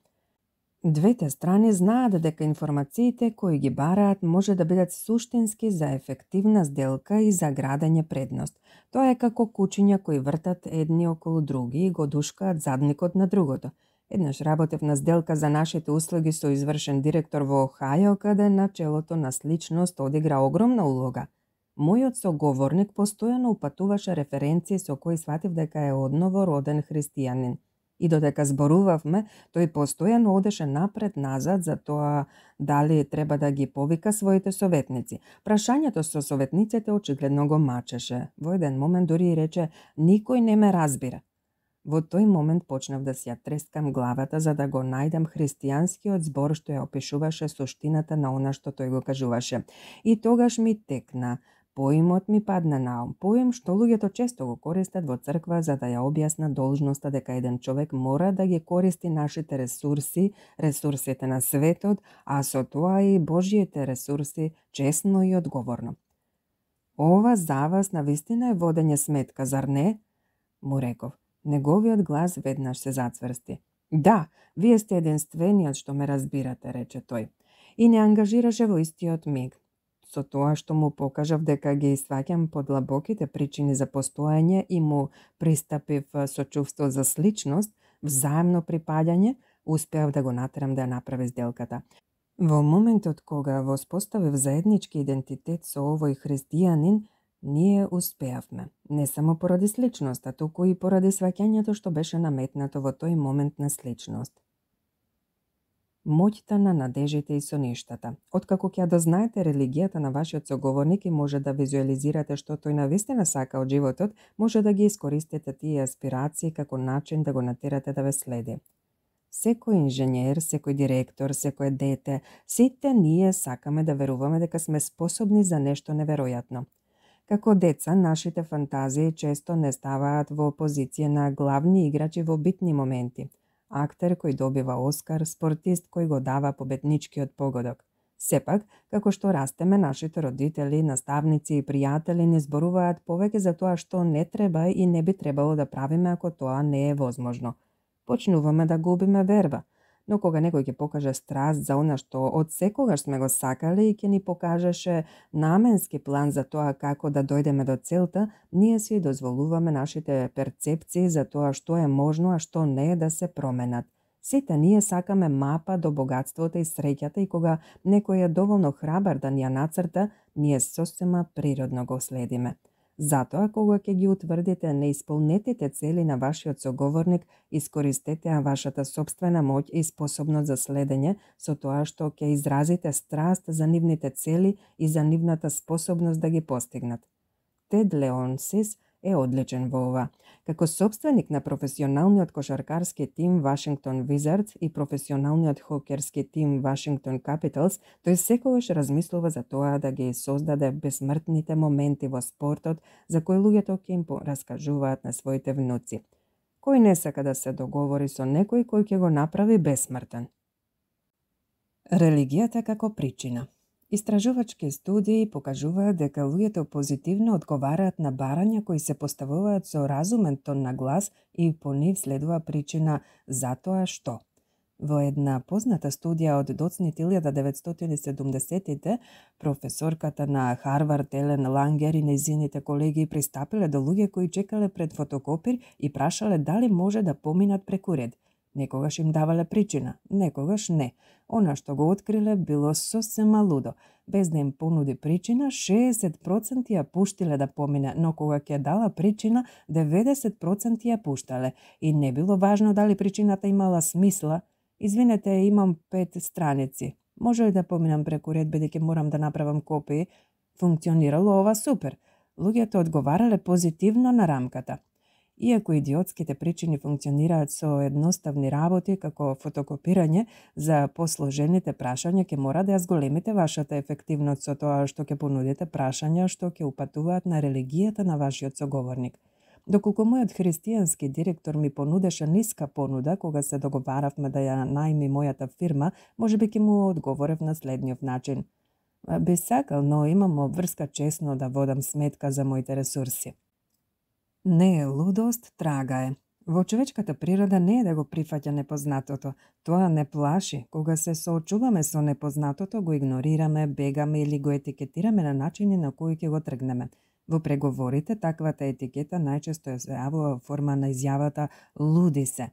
Speaker 1: Двете страни знаат дека информациите кои ги бараат може да бидат суштински за ефективна сделка и за градење предност. Тоа е како кучиња кои вртат едни околу други и го душкаат задникот на другото. Еднаш работев на сделка за нашите услуги со извршен директор во Охајо, каде начелото на сличност одигра огромна улога. Мојот соговорник постојано упатуваше референции со кои сватив дека е одново роден христијанин. И додека зборувавме, тој постојано одеше напред-назад за тоа дали треба да ги повика своите советници. Прашањето со советниците очигледно го мачеше. Во еден момент дури и рече: "Никој не ме разбира." Во тој момент почнав да си ја трескам главата за да го најдам христијанскиот збор што ја опишуваше суштината на она што тој го кажуваше. И тогаш ми текна. Поимот ми падна на ум. Поим што луѓето често го користат во црква за да ја објасна должноста дека еден човек мора да ги користи нашите ресурси, ресурсите на светот, а со тоа и Божјите ресурси честно и одговорно. Ова за вас навистина е водење сметка, зар не? Му реков. Неговиот глас веднаш се зацврсти. Да, вие сте единствениот што ме разбирате, рече тој. И не ангажираше во истиот миг. Со тоа што му покажав дека ги сваќам подлабоките причини за постоење и му пристапив со чувство за сличност, взаемно припаѓање, успеав да го натерам да ја направи сделката. Во моментот кога воспоставив заеднички идентитет со овој христијанин, ние успеавме. Не само поради сличноста, туку и поради сваќањето што беше наметнато во тој момент на сличност. Моќта на надежите и соништата. Откако ќе дознаете религијата на вашиот соговорник и може да визуализирате што тој навистина сака од животот, може да ги искористите тие аспирации како начин да го натерате да ве следи. Секој инженер, секој директор, секој дете, сите ние сакаме да веруваме дека сме способни за нешто неверојатно. Како деца, нашите фантазии често не ставаат во позиција на главни играчи во битни моменти. Актер кој добива Оскар, спортист кој го дава победничкиот погодок. Сепак, како што растеме, нашите родители, наставници и пријатели ни зборуваат повеќе за тоа што не треба и не би требало да правиме ако тоа не е возможно. Почнуваме да губиме верба, но кога некој ќе покаже страст за она што од секогаш сме го сакали и ќе ни покажеше наменски план за тоа како да дојдеме до целта, ние си дозволуваме нашите перцепции за тоа што е можно, а што не е да се променат. Сите ние сакаме мапа до богатството и среќата и кога некој е доволно храбар да ни ја нацрта, ние сосема природно го следиме. Затоа, кога ќе ги утврдите неисполнетите цели на вашиот соговорник, искористете вашата сопствена моќ и способност за следење со тоа што ќе изразите страст за нивните цели и за нивната способност да ги постигнат. Тед Леонсис е одличен во ова. Како сопственик на професионалниот кошаркарски тим Вашингтон Wizards и професионалниот хокерски тим Вашингтон Capitals, тој секогаш размислува за тоа да ги создаде безсмртните моменти во спортот за кои луѓето ќе им раскажуваат на своите внуци. Кој не сака да се договори со некој кој ќе го направи безсмртен? Религијата како причина. Истражувачки студии покажуваат дека луѓето позитивно одговараат на барања кои се поставуваат со разумен тон на глас и по нив следува причина затоа што. Во една позната студија од доцните 1970-тите, професорката на Харвард Елен Лангер и нејзините колеги пристапиле до луѓе кои чекале пред фотокопир и прашале дали може да поминат преку ред. Некогаш им давале причина, некогаш не. Она што го откриле било сосема лудо. Без да им понуди причина, 60% ја пуштиле да помине, но кога ќе дала причина, 90% ја пуштале. И не било важно дали причината имала смисла. Извинете, имам 5 страници. Може ли да поминам преку ред, бидејќи морам да направам копии? Функционирало ова супер. Луѓето одговарале позитивно на рамката. Иако идиотските причини функционираат со едноставни работи, како фотокопирање, за посложените прашања ќе мора да ја зголемите вашата ефективност со тоа што ќе понудите прашања што ќе упатуваат на религијата на вашиот соговорник. Доколку мојот христијански директор ми понудеше ниска понуда кога се договаравме да ја најми мојата фирма, можеби ќе му одговорев на следниот начин. Би сакал, но имам обврска чесно да водам сметка за моите ресурси. Не е лудост, трага е. Во човечката природа не е да го прифаќа непознатото. Тоа не плаши. Кога се соочуваме со непознатото, го игнорираме, бегаме или го етикетираме на начини на кои ќе го тргнеме. Во преговорите, таквата етикета најчесто се јавува во форма на изјавата «луди се».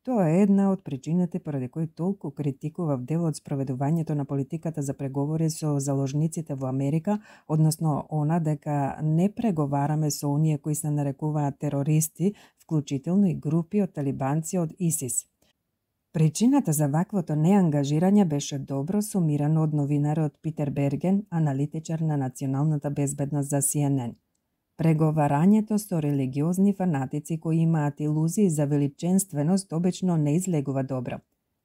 Speaker 1: Тоа е една од причините поради кои толку критикував дел од спроведувањето на политиката за преговори со заложниците во Америка, односно она дека не преговараме со оние кои се нарекуваат терористи, вклучително и групи од талибанци од ИСИС. Причината за ваквото неангажирање беше добро сумирано од новинарот Питер Берген, аналитичар на националната безбедност за CNN. Преговарањето со религиозни фанатици кои имаат илузии за величенственост обично не излегува добро.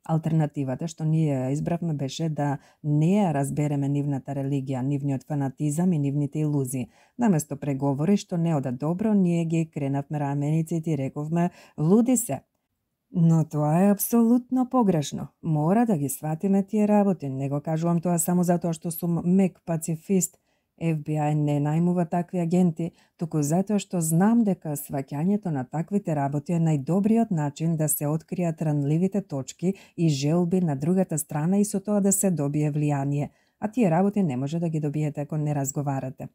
Speaker 1: Алтернативата што ние ја избравме беше да не ја разбереме нивната религија, нивниот фанатизам и нивните илузии. Наместо преговори што не ода добро, ние ги кренавме рамениците и рековме «луди се». Но тоа е апсолутно погрешно. Мора да ги сватиме тие работи. Не го кажувам тоа само затоа што сум мек пацифист. FBI не најмува такви агенти, туку затоа што знам дека сваќањето на таквите работи е најдобриот начин да се откријат ранливите точки и желби на другата страна и со тоа да се добие влијание, а тие работи не може да ги добиете ако не разговарате.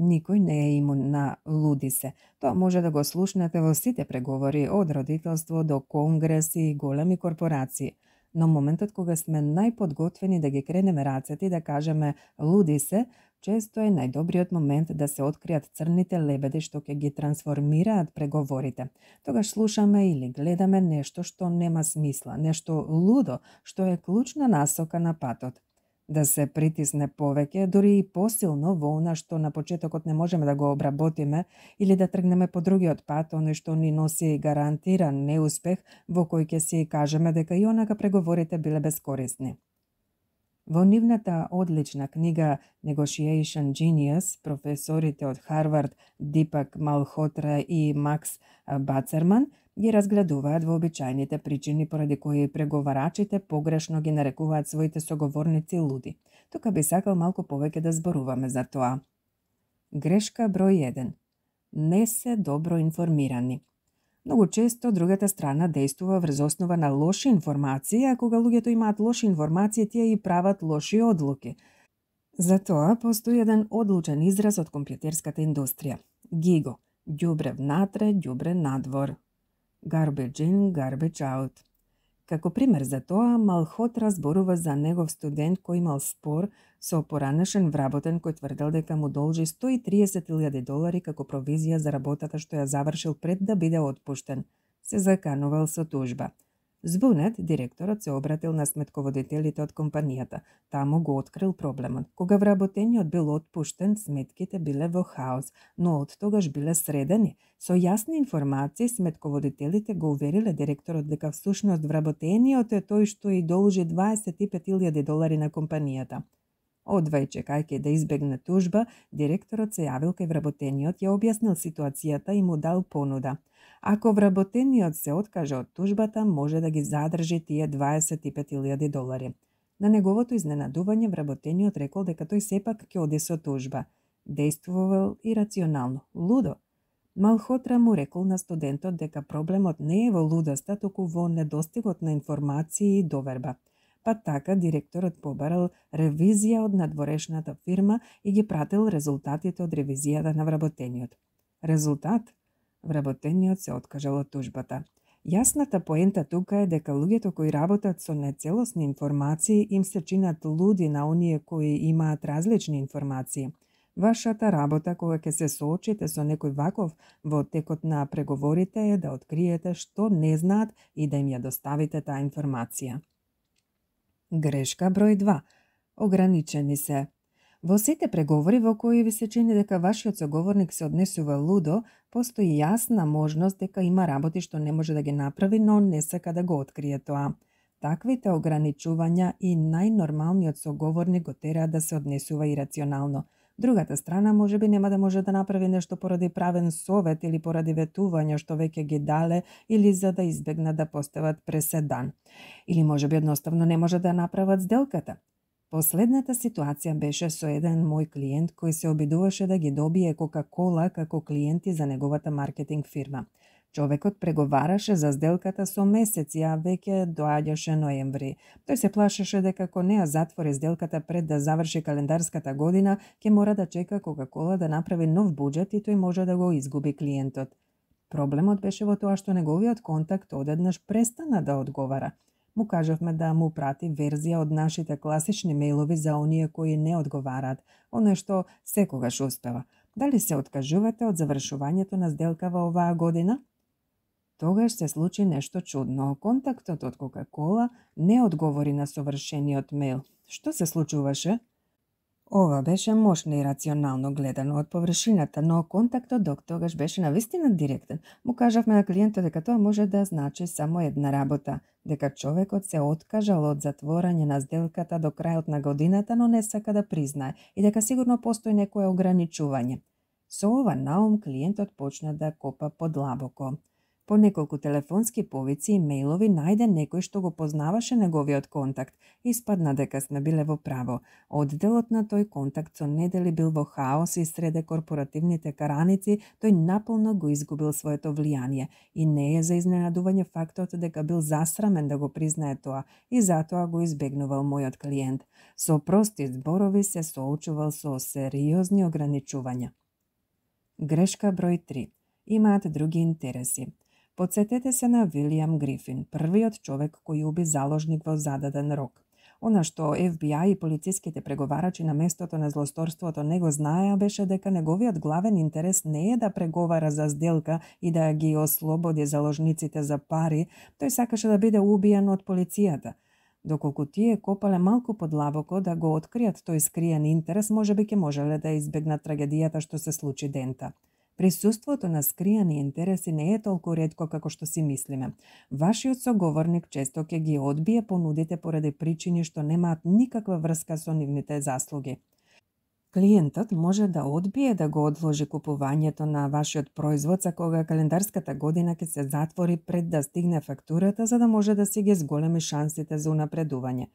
Speaker 1: Никој не е имун на «луди се». Тоа може да го слушнете во сите преговори, од родителство до конгреси и големи корпорации. Но моментот кога сме најподготвени да ги кренеме рацете и да кажеме «луди се», често е најдобриот момент да се откријат црните лебеди што ќе ги трансформираат преговорите. Тогаш слушаме или гледаме нешто што нема смисла, нешто лудо, што е клучна насока на патот. Да се притисне повеќе, дури и посилно во она што на почетокот не можеме да го обработиме, или да тргнеме по другиот пат, оној што ни носи гарантиран неуспех, во кој ќе си кажеме дека и онака преговорите биле безкорисни. Во нивната одлична книга Negotiation Genius, професорите од Харвард Дипак Малхотра и Макс Бацерман ги разгледуваат вообичајните причини поради кои преговарачите погрешно ги нарекуваат своите соговорници луди. Тука би сакал малку повеќе да зборуваме за тоа. Грешка број 1. Не се добро информирани. Многу често другата страна действува врз основа на лоши информации, а кога луѓето имаат лоши информации, тие и прават лоши одлуки. Затоа постои еден одлучен израз од компјутерската индустрија. GIGO. Ѓубре внатре, ѓубре надвор. Garbage in, garbage out. Како пример за тоа, Малхотра зборува за негов студент кој имал спор со поранешен вработен кој тврдел дека му должи $130,000 како провизија за работата што ја завршил пред да биде отпуштен. Се заканувал со тужба. Збунет, директорот се обратил на сметководителите од компанијата. Таму го открил проблемот. Кога вработениот бил отпуштен, сметките биле во хаос, но од тогаш биле средени. Со јасни информации, сметководителите го увериле директорот дека всушност вработениот е тој што и должи $25,000 на компанијата. Одвај чекајќи да избегне тужба, директорот се јавил кај вработениот, ја објаснил ситуацијата и му дал понуда. Ако вработениот се откаже од тужбата, може да ги задржи тие $25,000. На неговото изненадување, вработениот рекол дека тој сепак ќе оди со тужба. Действувал ирационално, лудо. Малхотра му рекол на студентот дека проблемот не е во лудоста, туку во недостигот на информации и доверба. Па така директорот побарал ревизија од надворешната фирма и ги пратил резултатите од ревизијата на вработениот. Резултат? Вработениот се откажал од тужбата. Јасната поента тука е дека луѓето кои работат со нецелосни информации им се чинат луди на оние кои имаат различни информации. Вашата работа кога ќе се соочите со некој ваков во текот на преговорите е да откриете што не знаат и да им ја доставите таа информација. Грешка број 2. Ограничени се. Во сите преговори во кои ви се чини дека вашиот соговорник се однесува лудо, постои јасна можност дека има работи што не може да ги направи, но не сака да го открие тоа. Таквите ограничувања и најнормалниот соговорник го тераат да се однесува ирационално. Другата страна можеби нема да може да направи нешто поради правен совет или поради ветувања што веќе ги дале или за да избегнат да постават преседан. Или можеби едноставно не може да направат сделката. Последната ситуација беше со еден мој клиент кој се обидуваше да ги добие Кока-Кола како клиенти за неговата маркетинг фирма. Човекот преговараше за сделката со месеци, а веќе доаѓаше ноември. Тој се плашеше дека ако не ја затвори сделката пред да заврши календарската година, ќе мора да чека Кока-Кола да направи нов буџет и тој може да го изгуби клиентот. Проблемот беше во тоа што неговиот контакт одеднаш престана да одговара. Му кажавме да му прати верзија од нашите класични мејлови за оние кои не одговараат, оно што секогаш успева. Дали се откажувате од завршувањето на сделка во оваа година? Тогаш се случи нешто чудно. Контактот од Кока-Кола не одговори на совршениот мејл. Што се случуваше? Ова беше мощно и рационално гледано од површината, но контактот до тогаш беше навистина директен. Му кажавме на клиентот дека тоа може да значи само една работа, дека човекот се откажал од затворање на сделката до крајот на годината, но не сака да признае и дека сигурно постои некое ограничување. Со ова наум клиентот почна да копа подлабоко. По неколку телефонски повици и мејлови најде некој што го познаваше неговиот контакт. Испадна дека сме биле во право. Одделот на тој контакт со недели бил во хаос и среде корпоративните караници, тој наполно го изгубил своето влијание. И не е за изненадување фактот дека бил засрамен да го признае тоа и затоа го избегнувал мојот клиент. Со прости зборови се соочувал со сериозни ограничувања. Грешка број 3. Имаат други интереси. Подсетете се на Вилијам Грифин, првиот човек кој уби заложник во зададен рок. Она што FBI и полициските преговарачи на местото на злосторството не го знаеа беше дека неговиот главен интерес не е да преговара за сделка и да ги ослободи заложниците за пари, тој сакаше да биде убиен од полицијата. Доколку тие копале малку подлабоко да го откријат тој скриен интерес, можеби ќе можеле да избегнат трагедијата што се случи дента. Присуството на скриени интереси не е толку ретко како што си мислиме. Вашиот соговорник често ќе ги одбие понудите поради причини што немаат никаква врска со нивните заслуги. Клиентот може да одбие да го одложи купувањето на вашиот производ за кога календарската година ќе се затвори пред да стигне фактурата, за да може да си ги зголеми шансите за унапредување.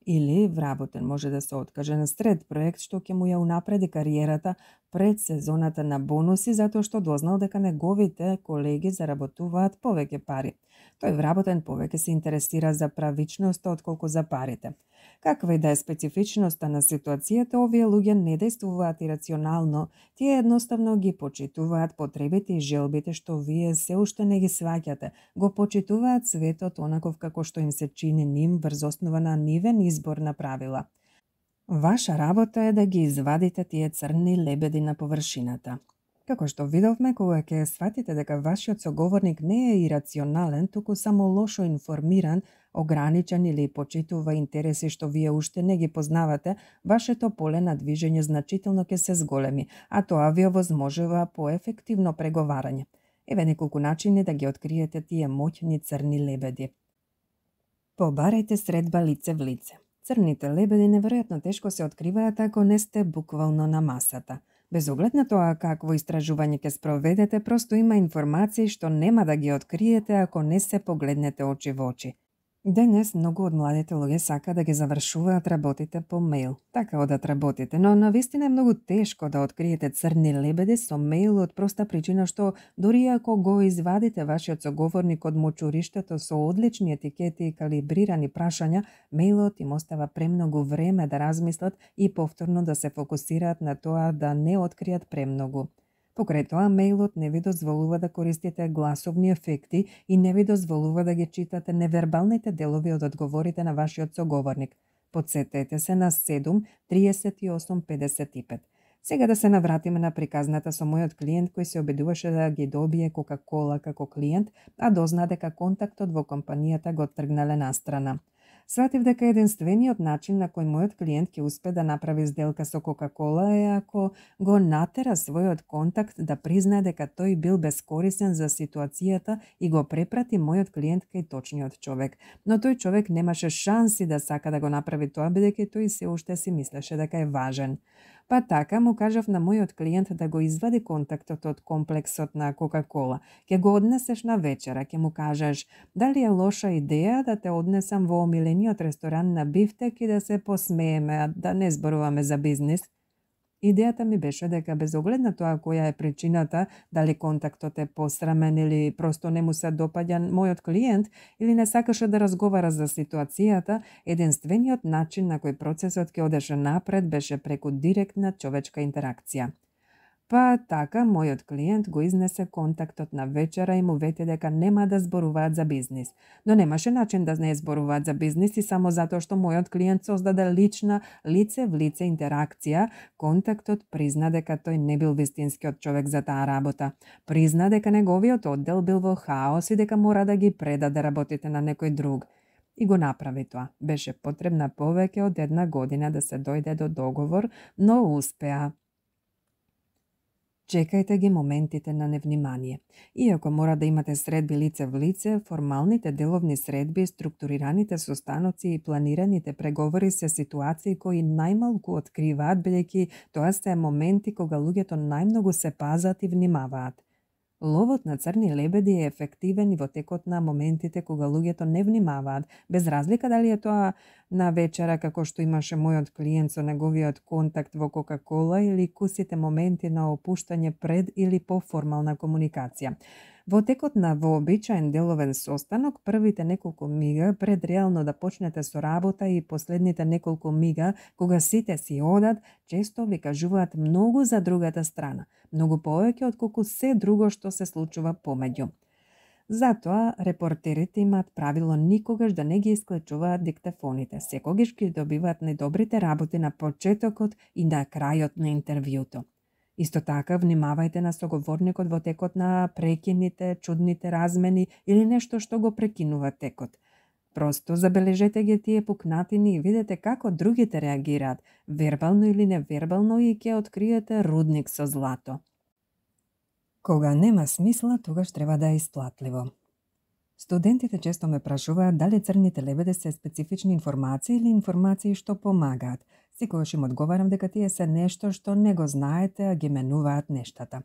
Speaker 1: Или вработен може да се откаже на сред проект што ќе му ја унапреди кариерата пред сезоната на бонуси затоа што дознал дека неговите колеги заработуваат повеќе пари. Тој вработен повеќе се интересира за правичноста отколку за парите. Каква и да е специфичноста на ситуацијата, овие луѓе не действуваат ирационално, тие едноставно ги почитуваат потребите и желбите што вие се уште не ги сваќате, го почитуваат светот онаков како што им се чини ним врз основа на нивен избор на правила. Ваша работа е да ги извадите тие црни лебеди на површината. Како што видовме, кога ќе сватите дека вашиот соговорник не е ирационален, туку само лошо информиран, ограничен или почитува интереси што вие уште не ги познавате, вашето поле на движење значително ќе се зголеми, а тоа ви овозможува поефективно преговарање. Еве неколку начини да ги откриете тие моќни црни лебеди. Побарајте средба лице в лице. Црните лебеди неверојатно тешко се откриваат ако не сте буквално на масата. Без оглед на тоа какво истражување ќе спроведете, просто има информации што нема да ги откриете ако не се погледнете очи во очи. Денес многу од младите луѓе сака да ги завршуваат работите по мејл. Така одат работите, но навистина е многу тешко да откриете црни лебеди со мејл од проста причина што дури ако го извадите вашиот соговорник од мочуриштето со одлични етикети и калибрирани прашања, мејлот им остава премногу време да размислат и повторно да се фокусираат на тоа да не откријат премногу. Покрај тоа, мејлот не ви дозволува да користите гласовни ефекти и не ви дозволува да ги читате невербалните делови од одговорите на вашиот соговорник. Потсетете се на 7 38 55. Сега да се навратиме на приказната со мојот клиент кој се обидуваше да ги добие Кока-кола како клиент, а дозна дека контактот во компанијата го тргнале настрана. Сватив дека единствениот начин на кој мојот клиент ќе успе да направи сделка со Кока-кола е ако го натера својот контакт да признае дека тој бил бескорисен за ситуацијата и го препрати мојот клиент кај точниот човек. Но тој човек немаше шанси да сака да го направи тоа, бидејќи тој се уште си мислеше дека е важен. Па така му кажав на мојот клиент да го извади контактот од комплексот на Кока-кола. Ќе го однесеш на вечера, ќе му кажеш дали е лоша идеја да те однесам во омилениот ресторан на бифтек и да се посмееме, да не зборуваме за бизнис. Идејата ми беше дека без оглед на тоа која е причината, дали контактот е посрамен или просто не му се допаѓа мојот клиент или не сакаше да разговара за ситуацијата, единствениот начин на кој процесот ќе одеше напред беше преку директна човечка интеракција. Па така, мојот клиент го изнесе контактот на вечера и му вети дека нема да зборуваат за бизнис. Но немаше начин да не зборуваат за бизнис и само затоа што мојот клиент создаде лична, лице в лице интеракција, контактот призна дека тој не бил вистинскиот човек за таа работа. Призна дека неговиот оддел бил во хаос и дека мора да ги предаде работите на некој друг. И го направи тоа. Беше потребна повеќе од 1 година да се дојде до договор, но успеа. Чекајте ги моментите на невнимание. Иако мора да имате средби лице в лице, формалните деловни средби, структурираните состаноци и планираните преговори се ситуации кои најмалку откриваат, бидејќи тоа се моменти кога луѓето најмногу се пазат и внимаваат. Ловот на црни лебеди е ефективен и во текот на моментите кога луѓето не внимаваат, без разлика дали е тоа на вечера како што имаше мојот клиент со неговиот контакт во Кока-кола или кусите моменти на опуштање пред или по формална комуникација. Во текот на вообичаен деловен состанок, првите неколку мига пред реално да почнете со работа и последните неколку мига кога сите си одат, често ви кажуваат многу за другата страна, многу повеќе отколку се друго што се случува помеѓу. Затоа, репортерите имаат правило никогаш да не ги исклучуваат диктафоните, секогаш ги добиваат најдобрите работи на почетокот и на крајот на интервјуто. Исто така, внимавајте на соговорникот во текот на прекините, чудните размени или нешто што го прекинува текот. Просто забележете ги тие пукнатини и видете како другите реагираат, вербално или невербално, и ќе откриете рудник со злато. Кога нема смисла, тогаш треба да е исплатливо. Студентите често ме прашуваат дали црните лебеди се специфични информации или информации што помагаат. Секогаш им одговарам дека тие се нешто што не го знаете, а ги менуваат нештата.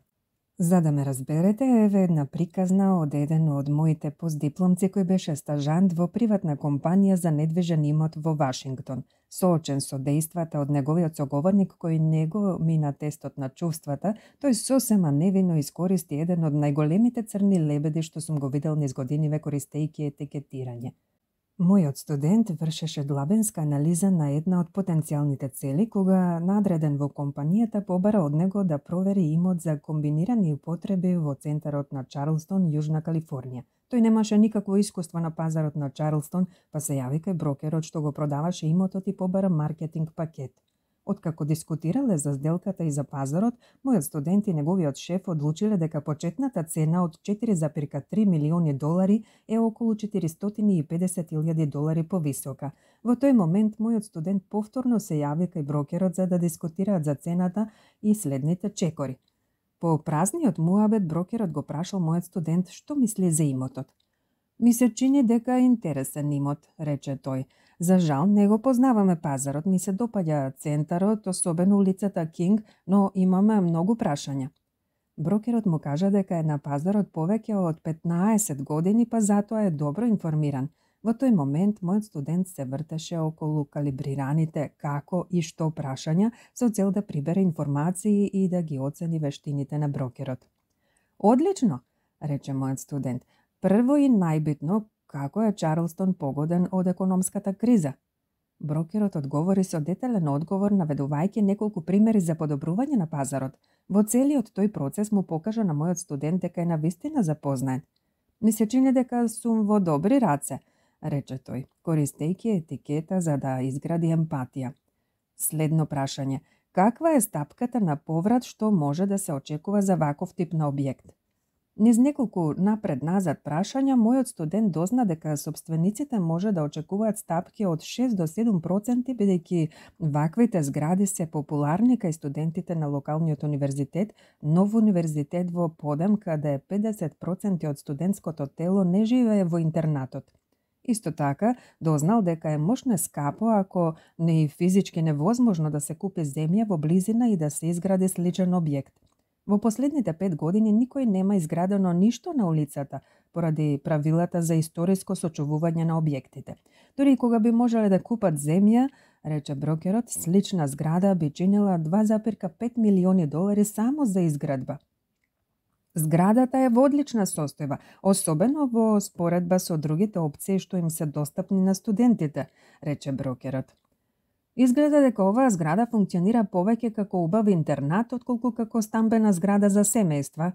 Speaker 1: За да ме разберете, еве една приказна од еден од моите постдипломци кој беше стажант во приватна компанија за недвижен имот во Вашингтон. Соочен со дејствата од неговиот соговорник кој не го мина тестот на чувствата, тој сосема невино искористи еден од најголемите црни лебеди што сум го видел низ годиниве користејќи етикетирање. Мојот студент вршеше длабенска анализа на една од потенцијалните цели, кога надреден во компанијата побара од него да провери имот за комбинирани употреби во центарот на Чарлстон, Јужна Калифорнија. Тој немаше никакво искуство на пазарот на Чарлстон, па се јави кај брокерот што го продаваше имотот и побара маркетинг пакет. Откако дискутирале за сделката и за пазарот, мојот студент и неговиот шеф одлучиле дека почетната цена од 4,3 милиони долари е околу 450.000 долари повисока. Во тој момент мојот студент повторно се јави кај брокерот за да дискутираат за цената и следните чекори. По празниот муабет брокерот го прашал мојот студент што мисли за имотот. Ми се чини дека е интересен имот, рече тој. За жал, не го познаваме пазарот, ми се допаѓа центарот, особено улицата Кинг, но имаме многу прашања. Брокерот му кажа дека е на пазарот повеќе од 15 години, па затоа е добро информиран. Во тој момент, мојот студент се вртеше околу калибрираните како и што прашања со цел да прибере информации и да ги оцени вештините на брокерот. Одлично, рече мојот студент. Прво и најбитно, како е Чарлстон погоден од економската криза? Брокерот одговори со детален одговор, наведувајќи неколку примери за подобрување на пазарот. Во целиот тој процес му покажа на мојот студент дека е навистина запознаен. Ми се чини дека сум во добри раце, рече тој, користејќи етикета за да изгради емпатија. Следно прашање: каква е стапката на поврат што може да се очекува за ваков тип на објект? Низ неколку напред-назад прашања, мојот студент дозна дека собствениците може да очекуваат стапки од 6 до 7%, бидејќи ваквите згради се популарни кај студентите на локалниот универзитет, нов универзитет во Подем, каде 50% од студентското тело не живее во интернатот. Исто така, дознал дека е мошне скапо, ако не и физички невозможно да се купи земја во близина и да се изгради сличен објект. Во последните 5 години никој нема изградено ништо на улицата, поради правилата за историско сочувување на објектите. Дори и кога би можеле да купат земја, рече брокерот, слична зграда би чинила $2,5 милиони само за изградба. Зградата е во одлична состојба, особено во споредба со другите опции што им се достапни на студентите, рече брокерот. Изгледа дека оваа зграда функционира повеќе како убав интернат, отколку како стамбена зграда за семејства,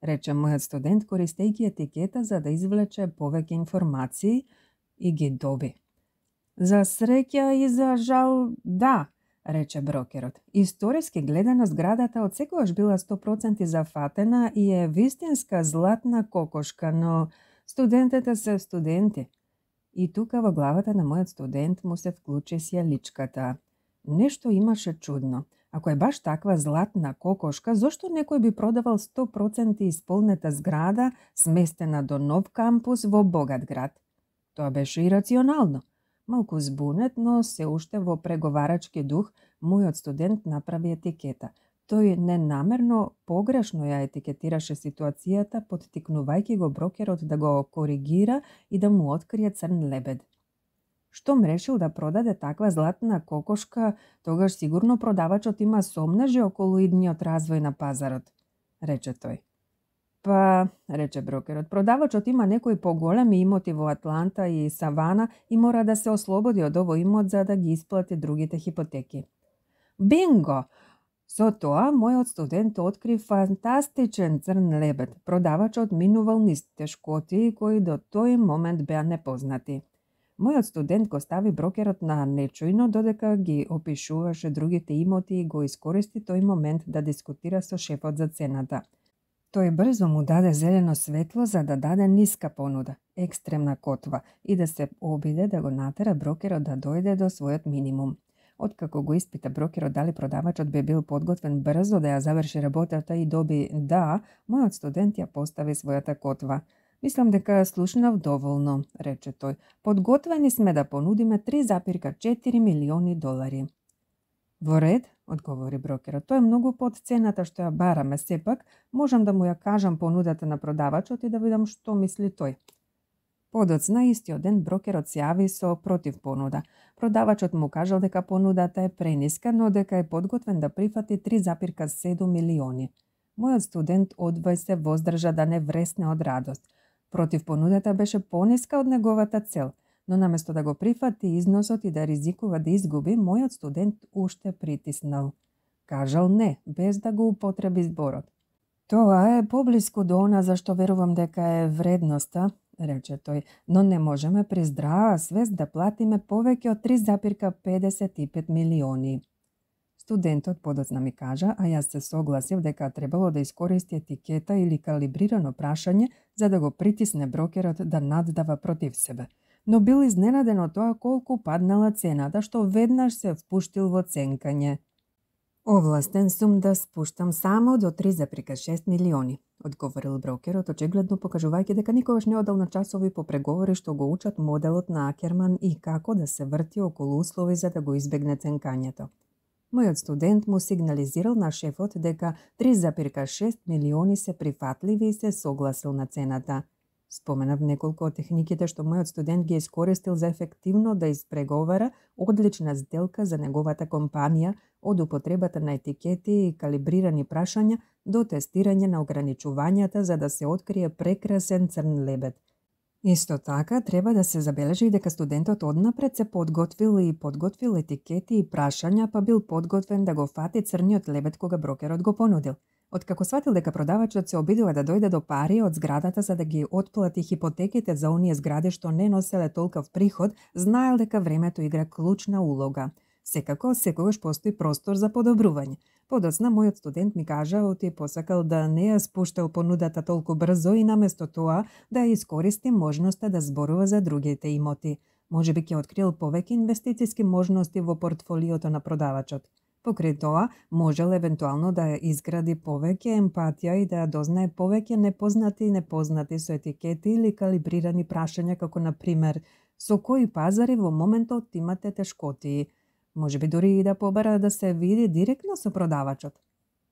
Speaker 1: рече мојот студент, користејќи етикета за да извлече повеќе информации и ги доби. За среќа и за жал, да, рече брокерот. Историски гледано, зградата од секогаш била 100% зафатена и е вистинска златна кокошка, но студентите се студенти. И тука во главата на мојот студент му се вклучи сјаличката. Нешто имаше чудно. Ако е баш таква златна кокошка, зошто некој би продавал 100% исполнета зграда, сместена до нов кампус во богат град? Тоа беше ирационално. Малку збунет, но се уште во преговарачки дух, мојот студент направи етикета. Тој ненамерно погрешно ја етикетираше ситуацијата, поттикнувајќи го брокерот да го коригира и да му открие црн лебед. Штом решил да продаде таква златна кокошка, тогаш сигурно продавачот има сомнежи околу идниот развој на пазарот, рече тој. Па, рече брокерот, продавачот има некои поголеми имоти во Атланта и Савана и мора да се ослободи од овој имот за да ги исплати другите хипотеки. Бинго! Со тоа, мојот студент откри фантастичен црн лебед. Продавачот минувал низ тешкоти кои до тој момент беа непознати. Мојот студент го стави брокерот на нечујно додека ги опишуваше другите имоти и го искористи тој момент да дискутира со шефот за цената. Тој брзо му даде зелено светло за да даде ниска понуда, екстремна котва, и да се обиде да го натера брокерот да дојде до својот минимум. Откако го испита брокерот дали продавачот би бил подготвен брзо да ја заврши работата и доби да, мојот студент ја постави својата котва. Мислам дека слушнав доволно, рече тој. Подготвени сме да понудиме $3,4 милиони. Во ред, одговори брокерот. Тоа е многу под цената што ја бараме, сепак можам да му ја кажам понудата на продавачот и да видам што мисли тој. Подоцна истиот ден брокерот се јави со против понуда. Продавачот му кажал дека понудата е прениска, но дека е подготвен да прифати $3,7 милиони. Мојот студент одвај се воздржа да не вресне од радост. Против понудата беше пониска од неговата цел, но наместо да го прифати износот и да ризикува да изгуби, мојот студент уште притиснал. Кажал не, без да го употреби зборот. Тоа е поблиску до она за што верувам дека е вредноста, рече тој, но не можеме при здрава свест да платиме повеќе од $3,55 милиони. Студентот подоцна ми кажа, а јас се согласив дека требало да искористи етикета или калибрирано прашање за да го притисне брокерот да наддава против себе. Но бил изненаден од тоа колку паднала цената, што веднаш се впуштил во ценкање. Овластен сум да спуштам само до $3,6 милиони, одговорил брокерот, очигледно покажувајќи дека никогаш не одел на часови по преговори што го учат моделот на Акерман и како да се врти околу услови за да го избегне ценкањето. Мојот студент му сигнализирал на шефот дека $3,6 милиони се прифатливи и се согласил на цената. Споменав неколку од техниките што мојот студент ги искористил за ефективно да испреговара одлична сделка за неговата компанија, од употребата на етикети и калибрирани прашања до тестирање на ограничувањата за да се открие прекрасен црн лебед. Исто така, треба да се забележи и дека студентот однапред се подготвил етикети и прашања, па бил подготвен да го фати црниот лебед кога брокерот го понудил. Откако сватил дека продавачот се обидува да дојде до пари од зградата за да ги отплати хипотеките за оние згради што не носеле толков приход, знаел дека времето игра клучна улога. Секако, секогаш постои простор за подобрување. Подоцна, мојот студент ми кажа оти посакал да не ја спуштал понудата толку брзо и наместо тоа да ја искористи можноста да зборува за другите имоти. Можеби ќе открил повеќе инвестициски можности во портфолиото на продавачот. Покрај тоа, можел евентуално да изгради повеќе емпатија и да дознае повеќе непознати со етикети или калибрирани прашања, како на пример со кои пазари во моментот имате тешкотии. Можеби дури и да побара да се види директно со продавачот.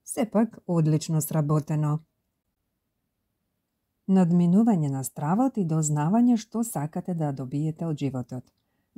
Speaker 1: Сепак, одлично сработено. Надминување на стравот и дознавање што сакате да добиете од животот.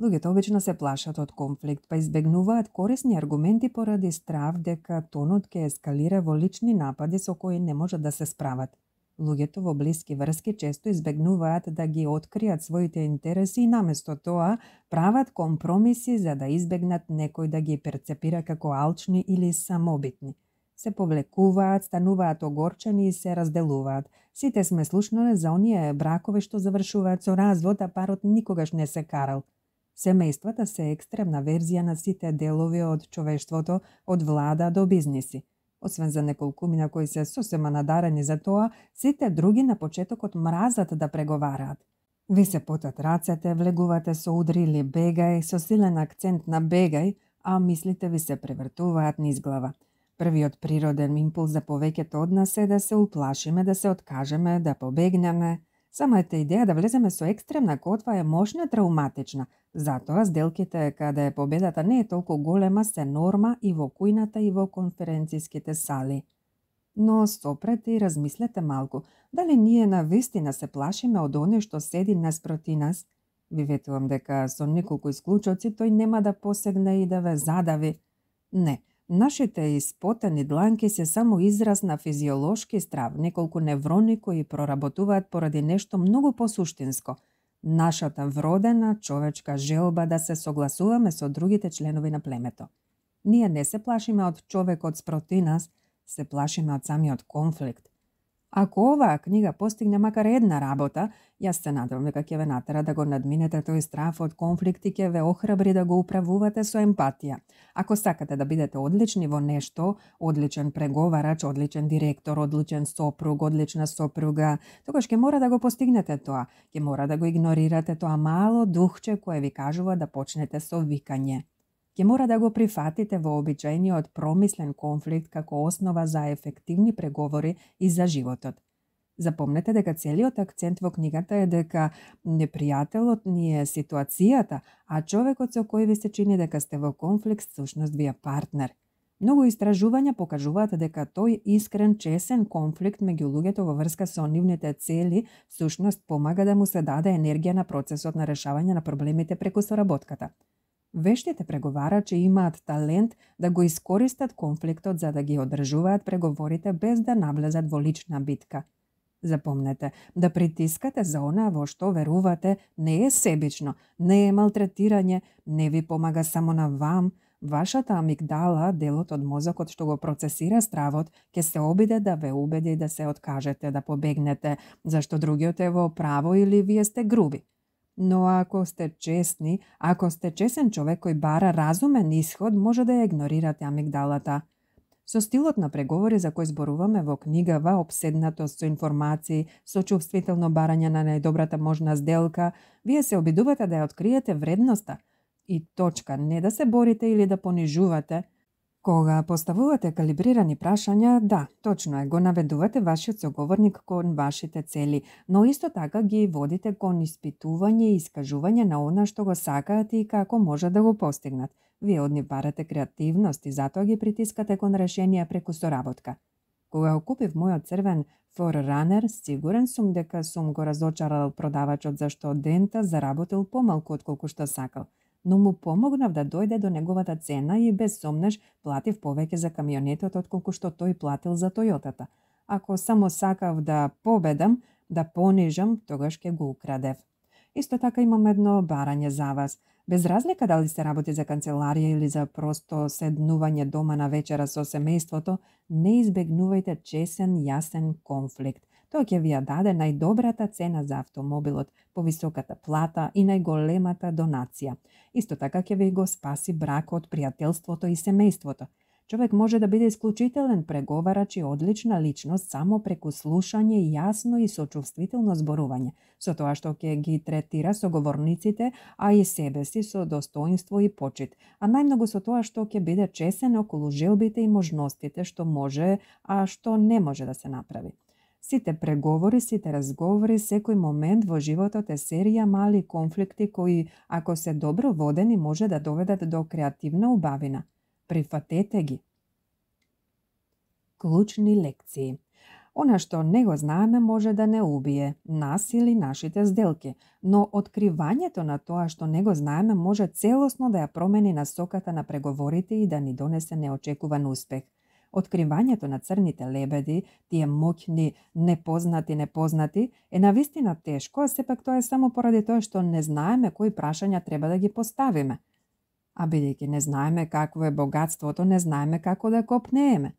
Speaker 1: Луѓето обично се плашат од конфликт, па избегнуваат корисни аргументи поради страв дека тонот ќе ескалира во лични напади со кои не можат да се справат. Луѓето во блиски врски често избегнуваат да ги откријат своите интереси и наместо тоа прават компромиси за да избегнат некој да ги перцепира како алчни или самобитни. Се повлекуваат, стануваат огорчени и се разделуваат. Сите сме слушнале за оние бракови што завршуваат со развод, а парот никогаш не се карал. Семејствата се екстремна верзија на сите делови од човештвото, од влада до бизниси. Освен за неколкумина кои се сосема надарени за тоа, сите други на почетокот мразат да преговараат. Ви се потат рацете, влегувате со удри или бегај, со силен акцент на бегај, а мислите ви се превртуваат низ глава. Првиот природен импулс за повеќето од нас е да се уплашиме, да се откажеме, да побегнеме. Самата идеја да влеземе со екстремна котва е мощна травматична, затоа сделките каде победата не е толку голема се норма и во кујната и во конференциските сали. Но сопрете и размислете малку, дали ние навистина се плашиме од оне што седи наспроти нас? Ви ветувам дека со неколку исклучоци тој нема да посегне и да ве задави. Не. Нашите испотени дланки се само израз на физиолошки страв, неколку неврони кои проработуваат поради нешто многу посуштинско. Нашата вродена човечка желба да се согласуваме со другите членови на племето. Ние не се плашиме од човекот спроти нас, се плашиме од самиот конфликт. Ако оваа книга постигне макар една работа, јас се надевам дека ќе ве натера да го надминете тој страв од конфликт и ќе ве охрабри да го управувате со емпатија. Ако сакате да бидете одлични во нешто, одличен преговарач, одличен директор, одличен сопруг, одлична сопруга, тогаш ќе мора да го постигнете тоа. Ќе мора да го игнорирате тоа мало духче кое ви кажува да почнете со викање. Ќе мора да го прифатите вообичаениот промислен конфликт како основа за ефективни преговори и за животот. Запомнете дека целиот акцент во книгата е дека непријателот ни е ситуацијата, а човекот со кој ви се чини дека сте во конфликт всушност ви е партнер. Многу истражувања покажуваат дека тој искрен, чесен конфликт меѓу луѓето во врска со нивните цели всушност помага да му се даде енергија на процесот на решавање на проблемите преку соработката. Вештите преговарачи имаат талент да го искористат конфликтот за да ги одржуваат преговорите без да навлезат во лична битка. Запомнете, да притискате за она во што верувате не е себично, не е малтретирање, не ви помага само на вам. Вашата амигдала, делот од мозокот што го процесира стравот, ќе се обиде да ве убеди да се откажете, да побегнете, зашто другиот е во право или вие сте груби. Но ако сте честни, ако сте чесен човек кој бара разумен исход, може да ја игнорирате амигдалата. Со стилот на преговори за кој зборуваме во книгава, обседнатост со информации, со чувствително барање на најдобрата можна сделка, вие се обидувате да ја откриете вредноста и точка, не да се борите или да понижувате. Кога поставувате калибрирани прашања, да, точно е, го наведувате вашиот соговорник кон вашите цели, но исто така ги водите кон испитување и искажување на она што го сакаат и како може да го постигнат. Вие од нив барате креативност и затоа ги притискате кон решенија преку соработка. Кога го купив мојот црвен Forerunner, сигурен сум дека сум го разочарал продавачот зашто од дента заработил помалку отколку што сакал. Но му помогнав да дојде до неговата цена и без сомнеш платив повеќе за камионетот отколку што тој платил за Тојотата. Ако само сакав да победам, да понижам, тогаш ќе го украдев. Исто така имам едно барање за вас. Без разлика дали се работи за канцеларија или за просто седнување дома на вечера со семејството, не избегнувајте чесен, јасен конфликт. Тоа ќе ви ја даде најдобрата цена за автомобилот, повисоката плата и најголемата донација. Исто така ќе ви го спаси бракот, пријателството и семејството. Човек може да биде исклучителен преговарач и одлична личност само преку слушање, јасно и сочувствително зборување, со тоа што ќе ги третира соговорниците, а и себе си со достоинство и почит, а најмногу со тоа што ќе биде чесен околу желбите и можностите што може, а што не може да се направи. Сите преговори, сите разговори, секој момент во животот е серија мали конфликти кои, ако се добро водени, може да доведат до креативна убавина. Прифатете ги. Клучни лекции. Она што не го знаеме може да не убие нас или нашите сделки, но откривањето на тоа што не го знаеме може целосно да ја промени насоката на преговорите и да ни донесе неочекуван успех. Откривањето на црните лебеди, тие моќни непознати, е навистина тешко, а сепак тоа е само поради тоа што не знаеме кои прашања треба да ги поставиме. А бидејќи не знаеме какво е богатството, не знаеме како да копнееме.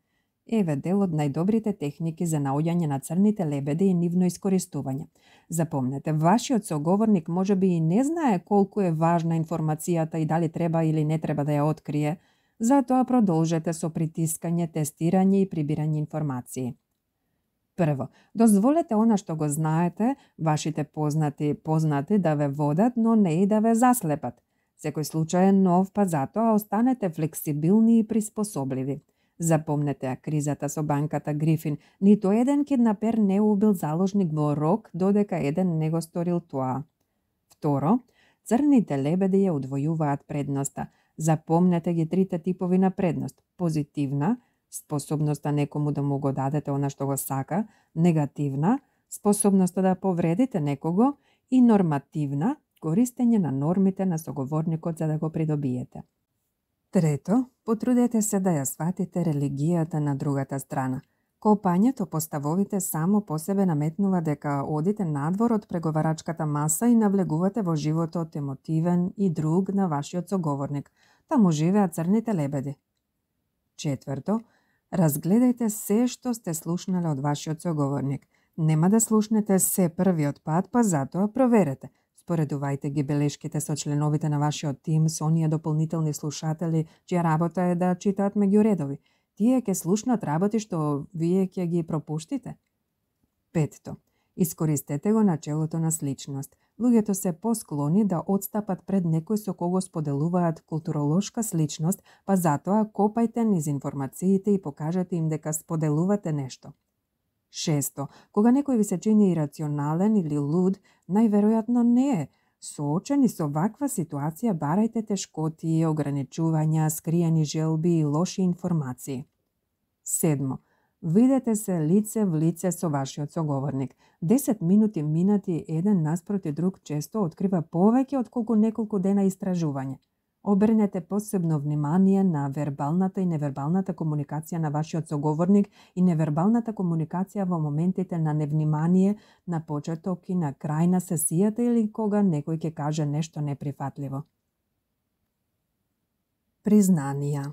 Speaker 1: Еве дел од најдобрите техники за наоѓање на црните лебеди и нивно искористување. Запомнете, вашиот соговорник можеби и не знае колку е важна информацијата и дали треба или не треба да ја открие, затоа продолжете со притискање, тестирање и прибирање информации. Прво, дозволете она што го знаете, вашите познати да ве водат, но не и да ве заслепат. Секој случај е нов, па затоа останете флексибилни и приспособливи. Запомнете кризата со банката Грифин. Ниту еден киднапер не убил заложник во рок, додека еден не го сторил тоа. Второ, црните лебеди ја удвојуваат предноста. Запомнете ги трите типови на предност. Позитивна, способноста некому да му го дадете она што го сака. Негативна, способноста да повредите некого. И нормативна, користење на нормите на соговорникот за да го придобиете. Трето, потрудете се да ја сватите религијата на другата страна. Копањето по ставовите само по себе наметнува дека одите надвор од преговарачката маса и навлегувате во животот емотивен и друг на вашиот соговорник. Таму живеат црните лебеди. Четврто, разгледајте се што сте слушнале од вашиот соговорник. Нема да слушнете се првиот пат, па затоа проверете. Споредувајте ги белешките со членовите на вашиот тим, со оние дополнителни слушатели, чија работа е да читаат меѓу редови. Тие ќе слушнат работи што вие ќе ги пропуштите. Петто. Искористете го начелото на сличност. Луѓето се посклони да отстапат пред некој со кого споделуваат културолошка сличност, па затоа копајте низ информациите и покажете им дека споделувате нешто. Шесто, кога некој ви се чини ирационален или луд, најверојатно не е. Соочени со ваква ситуација, барајте тешкоти, ограничувања, скриени желби и лоши информации. Седмо, видете се лице в лице со вашиот соговорник. 10 минути минати еден наспроти друг често открива повеќе отколку неколку дена истражување. Обрнете посебно внимание на вербалната и невербалната комуникација на вашиот соговорник и невербалната комуникација во моментите на невнимание, на почеток и на крај на сесијата или кога некој ќе каже нешто неприфатливо. Признанија.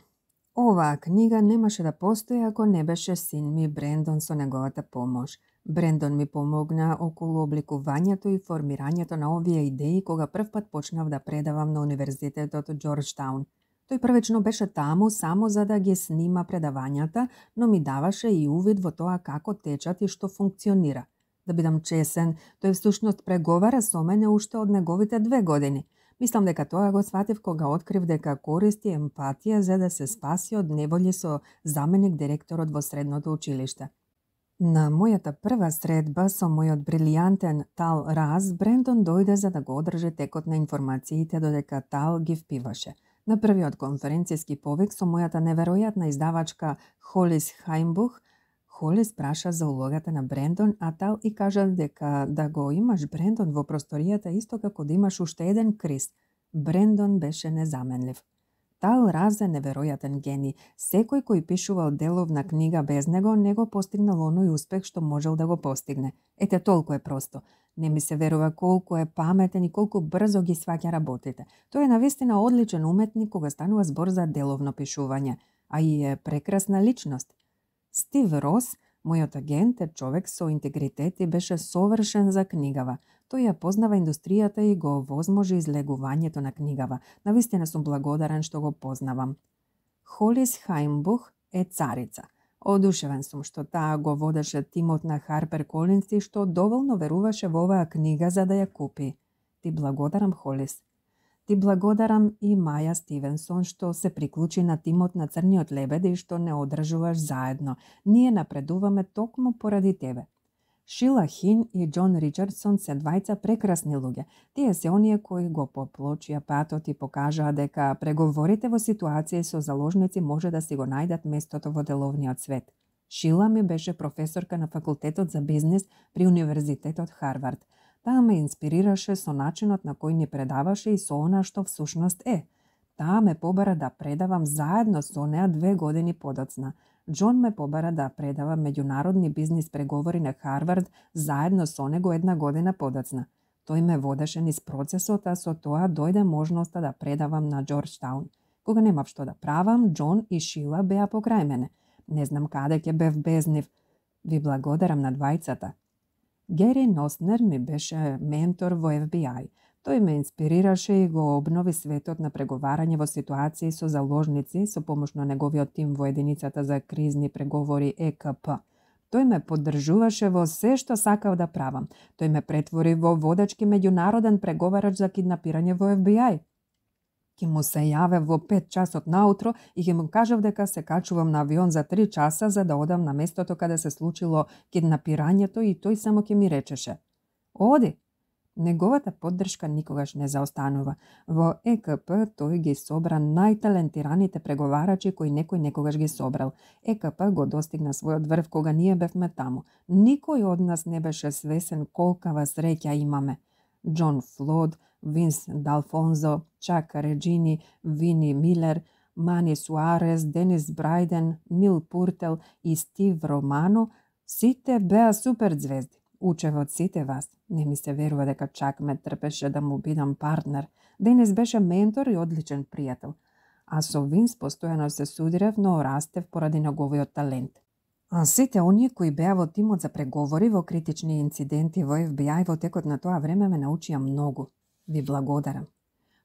Speaker 1: Оваа книга немаше да постои ако не беше син ми Брендон со неговата помош. Брендон ми помогна околу обликувањето и формирањето на овие идеи кога првпат почнав да предавам на Универзитетот Џорџтаун. Тој првично беше таму само за да ги снима предавањата, но ми даваше и увид во тоа како течат и што функционира. Да бидам чесен, тој всушност преговара со мене уште од неговите 2 години. Мислам дека тоа го сватив кога открив дека користи емпатија за да се спаси од неволји со заменик директорот во средното училиште. На мојата прва средба со мојот брилијантен Тал Раз, Брендон дојде за да го одржи текот на информациите додека Тал ги впиваше. На првиот конференцијски повик со мојата неверојатна издавачка Холис Хајмбух, Холис праша за улогата на Брендон, а Тал и кажа дека да го имаш Брендон во просторијата исто како да имаш уште еден Крис. Брендон беше незаменлив. Тал Раз е неверојатен гений. Секој кој пишувал деловна книга без него, не го постигнал оној успех што можел да го постигне. Ете, толку е просто. Не ми се верува колку е паметен и колку брзо ги сваќа работите. Тој е навистина одличен уметник кога станува збор за деловно пишување, а и е прекрасна личност. Стив Рос, мојот агент, е човек со интегритет и беше совршен за книгава. Тој ја познава индустријата и го возможи излегувањето на книгава. Навистина сум благодарен што го познавам. Холис Хајмбух е царица. Одушевен сум што таа го водеше тимот на Харпер Колинс и што доволно веруваше во оваа книга за да ја купи. Ти благодарам, Холис. Ти благодарам и Маја Стивенсон што се приклучи на тимот на Црниот лебед и што не одржуваш заедно. Ние напредуваме токму поради тебе. Шила Хин и Џон Ричардсон се двајца прекрасни луѓе. Тие се оние кои го поплочија патот и покажаа дека преговорите во ситуации со заложници може да си го најдат местото во деловниот свет. Шила ми беше професорка на факултетот за бизнис при Универзитетот Харвард. Таа ме инспирираше со начинот на кој ни предаваше и со она што всушност е. Таа ме побара да предавам заедно со неа 2 години подоцна. Џон ме побара да предавам меѓународни бизнис преговори на Харвард заедно со него 1 година подоцна. Тој ме водеше низ процесот, а со тоа дојде можноста да предавам на Џорџтаун. Кога немав што да правам, Џон и Шила беа покрај мене. Не знам каде ќе бев без нив. Ви благодарам на двајцата. Гери Носнер ми беше ментор во FBI. Тој ме инспирираше и го обнови светот на преговарање во ситуации со заложници со помош на неговиот тим во единицата за кризни преговори ЕКП. Тој ме поддржуваше во се што сакав да правам. Тој ме претвори во водачки меѓународен преговарач за киднапирање во FBI. Ки му се јавев во 5 часот наутро и ќе му кажав дека се качувам на авион за 3 часа за да одам на местото каде се случило киднапирањето и тој само ќе ми речеше: "Оди." Неговата поддршка никогаш не заостанува. Во ЕКП тој ги собра најталентираните преговарачи кои некој некогаш ги собрал. ЕКП го достигна својот врв кога ние бевме таму. Никој од нас не беше свесен колкава среќа имаме. Џон Флод, Винс Далфонзо, Чак Реджини, Вини Милер, Мани Суарес, Денис Брајден, Нил Пуртел и Стив Романо, сите беа супер звезди. Учев од сите вас. Не ми се верува дека Чак ме трпеше да му бидам партнер. Денис беше ментор и одличен пријател. А со Винс постојано се судирев, но растев поради неговиот талент. А сите оние кои беа во тимот за преговори во критични инциденти во FBI во текот на тоа време ме научија многу. Ви благодарам.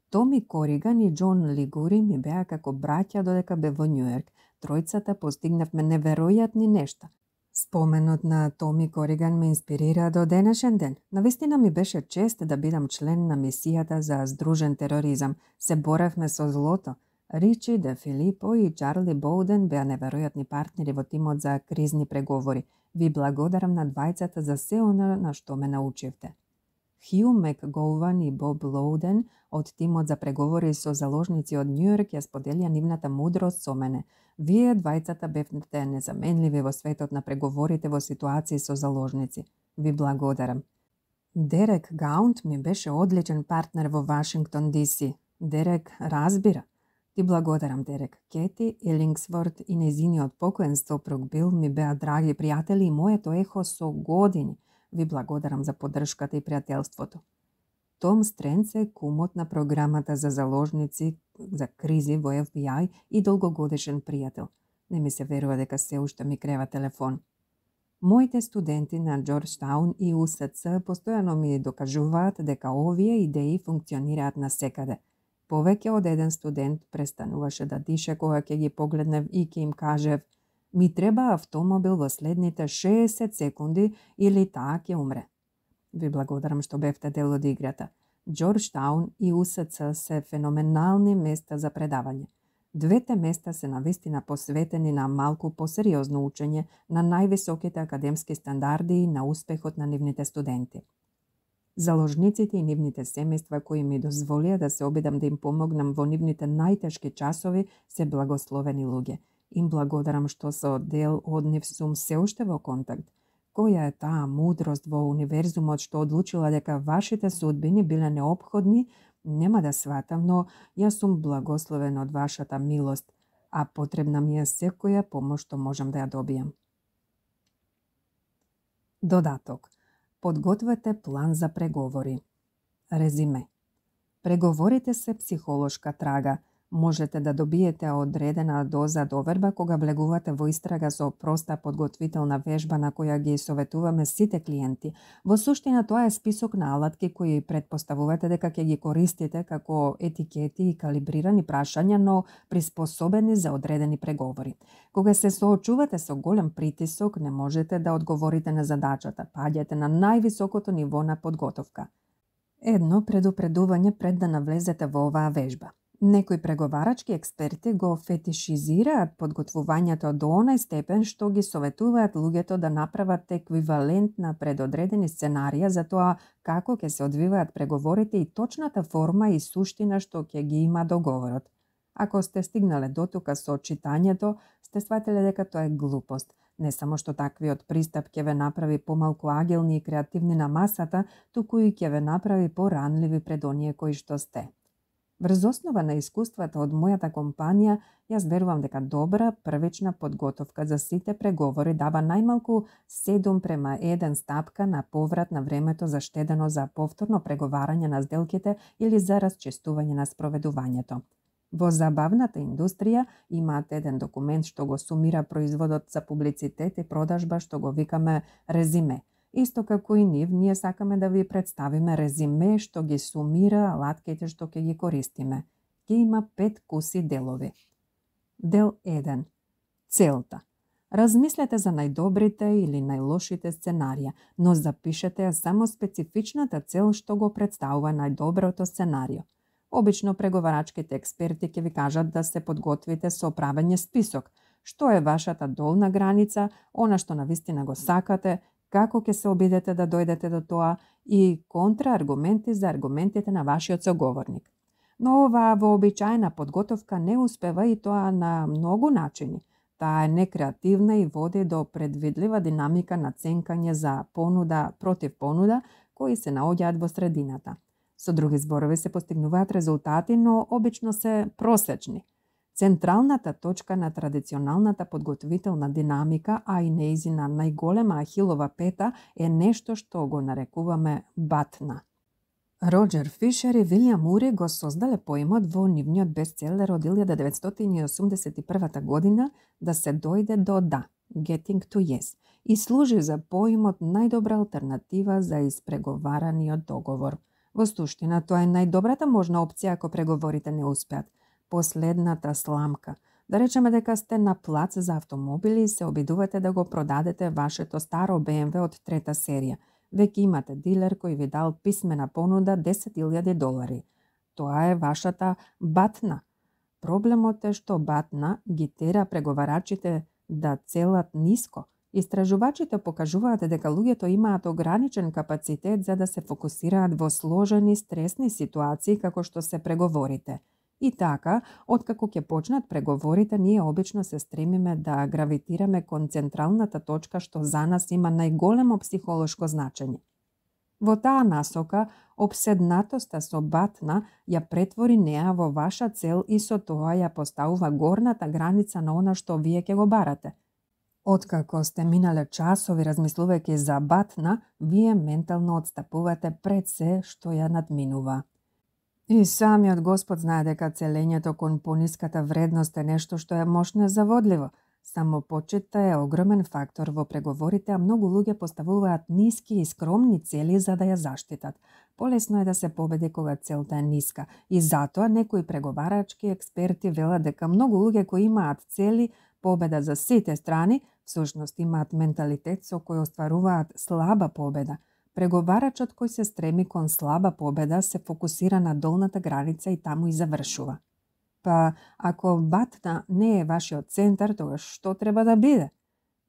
Speaker 1: Томи Кориган и Џон Лигури ми беа како браќа додека бев во Њујорк. Тројцата постигнавме неверојатни нешта. Споменот на Томи Кориган ме инспирира до денешен ден. Навистина ми беше чест да бидам член на мисијата за здружен тероризам. Се боревме со злото. Ричи Де Филипо и Чарли Боуден беа неверојатни партнери во тимот за кризни преговори. Ви благодарам на двајцата за се она на што ме научивте. Хју Макгован и Боб Лоуден од тимот за преговори со заложници од Њујорк ја споделија нивната мудрост со мене. Вие двајцата бевте незаменливи во светот на преговорите во ситуации со заложници. Ви благодарам. Дерек Гаунт ми беше одличен партнер во Вашингтон ДС. Дерек разбира. Ти благодарам, Дерек. Кети Елингсворт и незиниот покоен сопруг Бил ми беа драги пријатели и моето ехо со години. Ви благодарам за поддршката и пријателството. Том Стренц е кумот на програмата за заложници за кризи во FBI и долгогодишен пријател. Не ми се верува дека се уште ми крева телефон. Моите студенти на Џорџтаун и УСЦ постојано ми докажуваат дека овие идеи функционираат насекаде. Повеќе од еден студент престануваше да дише кога ќе ги погледнев и ќе им кажев: "Ми треба автомобил во следните 60 секунди или таа ќе умре." Ви благодарам што бевте дел од играта. Џорџтаун и УСЦ се феноменални места за предавање. Двете места се навистина посветени на малку посериозно учење, на највисоките академски стандарди и на успехот на нивните студенти. Заложниците и нивните семејства кои ми дозволија да се обидам да им помогнам во нивните најтешки часови се благословени луѓе. Им благодарам што со дел од нив сум се уште во контакт. Која е таа мудрост во универзумот што одлучила дека вашите судбини биле неопходни нема да сватам, но јас сум благословен од вашата милост, а потребна ми е секоја помош што можам да ја добијам. Додаток. Подгответе план за преговори. Резиме. Преговорите се психолошка трага. Можете да добиете одредена доза доверба кога влегувате во истрага со проста подготвителна вежба на која ги советуваме сите клиенти. Во суштина тоа е список на алатки кои претпоставувате дека ќе ги користите како етикети и калибрирани прашања, но приспособени за одредени преговори. Кога се соочувате со голем притисок, не можете да одговорите на задачата, паѓате на највисокото ниво на подготовка. Едно предупредување пред да навлезете во оваа вежба. Некои преговарачки експерти го фетишизираат подготвувањето до онај степен што ги советуваат луѓето да направат еквивалент на предодредени сценарија за тоа како ќе се одвиваат преговорите и точната форма и суштина што ќе ги има договорот. Ако сте стигнале дотука со читањето, сте сватиле дека тоа е глупост. Не само што таквиот пристап ќе ве направи помалку агилни и креативни на масата, туку и ќе ве направи поранливи пред оние кои што сте. Врз основа на искуствата од мојата компанија, јас верувам дека добра првична подготовка за сите преговори дава најмалку 7:1 стапка на поврат на времето заштедено за повторно преговарање на сделките или за расчистување на спроведувањето. Во забавната индустрија имаат еден документ што го сумира производот за публицитет и продажба што го викаме резиме. Исто како и ние сакаме да ви представиме резиме што ги сумира алатките што ќе ги користиме. Ќе има 5 куси делови. Дел 1. Целта. Размислете за најдобрите или најлошите сценарија, но запишете ја само специфичната цел што го представува најдоброто сценарио. Обично преговарачките експерти ќе ви кажат да се подготвите со правење список, што е вашата долна граница, она што навистина го сакате, како ќе се обидете да дојдете до тоа и контрааргументи за аргументите на вашиот соговорник. Но оваа вообичаена подготовка не успева и тоа на многу начини. Таа е некреативна и води до предвидлива динамика на ценкање за понуда против понуда, кои се наоѓаат во средината. Со други зборови се постигнуваат резултати, но обично се просечни. Централната точка на традиционалната подготвителна динамика, а и неизина најголема ахилова пета е нешто што го нарекуваме батна. Роџер Фишер и Вилијам Ури го создале поимот во нивниот бестселер од 1981 година да се дојде до да, Getting to Yes, и служи за поимот најдобра алтернатива за испреговараниот договор. Во суштина, тоа е најдобрата можна опција ако преговорите не успеат. Последната сламка. Да речеме дека сте на плац за автомобили и се обидувате да го продадете вашето старо BMW од трета серија. Веќе имате дилер кој ви дал писмена понуда $10,000. Тоа е вашата батна. Проблемот е што батна ги тера преговарачите да целат ниско. Истражувачите покажуваат дека луѓето имаат ограничен капацитет за да се фокусираат во сложени стресни ситуации како што се преговорите. И така, откако ќе почнат преговорите, ние обично се стремиме да гравитираме кон централната точка што за нас има најголемо психолошко значење. Во таа насока, обседнатоста со батна ја претвори неа во ваша цел и со тоа ја поставува горната граница на она што вие ќе го барате. Откако сте минале часови размислувајќи за батна, вие ментално отстапувате пред се што ја надминува. И самиот Господ знае дека целењето кон пониската вредност е нешто што е мощно и заводливо. Самопочитта е огромен фактор во преговорите, а многу луѓе поставуваат ниски и скромни цели за да ја заштитат. Полесно е да се победи кога целта е ниска. И затоа некои преговарачки експерти велат дека многу луѓе кои имаат цели победа за сите страни, всушност имаат менталитет со кој остваруваат слаба победа. Преговарачот кој се стреми кон слаба победа се фокусира на долната граница и таму и завршува. Па, ако батна не е вашиот центар, тогаш што треба да биде?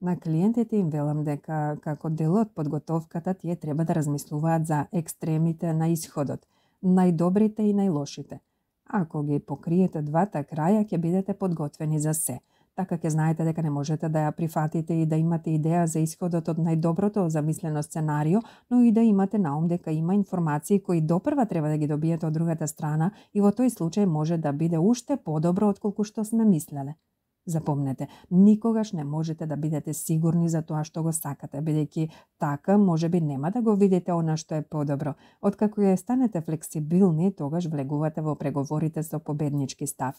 Speaker 1: На клиентите им велам дека како дел од подготовката тие треба да размислуваат за екстремите на исходот, најдобрите и најлошите. Ако ги покриете двата краја, ќе бидете подготвени за се. Така ќе знаете дека не можете да ја прифатите и да имате идеја за исходот од најдоброто замислено сценарио, но и да имате на ум дека има информации кои допрва треба да ги добиете од другата страна и во тој случај може да биде уште подобро отколку што сме мислеле. Запомнете, никогаш не можете да бидете сигурни за тоа што го сакате, бидејќи така можеби нема да го видите она што е подобро. Откако ја станете флексибилни, тогаш влегувате во преговорите со победнички став.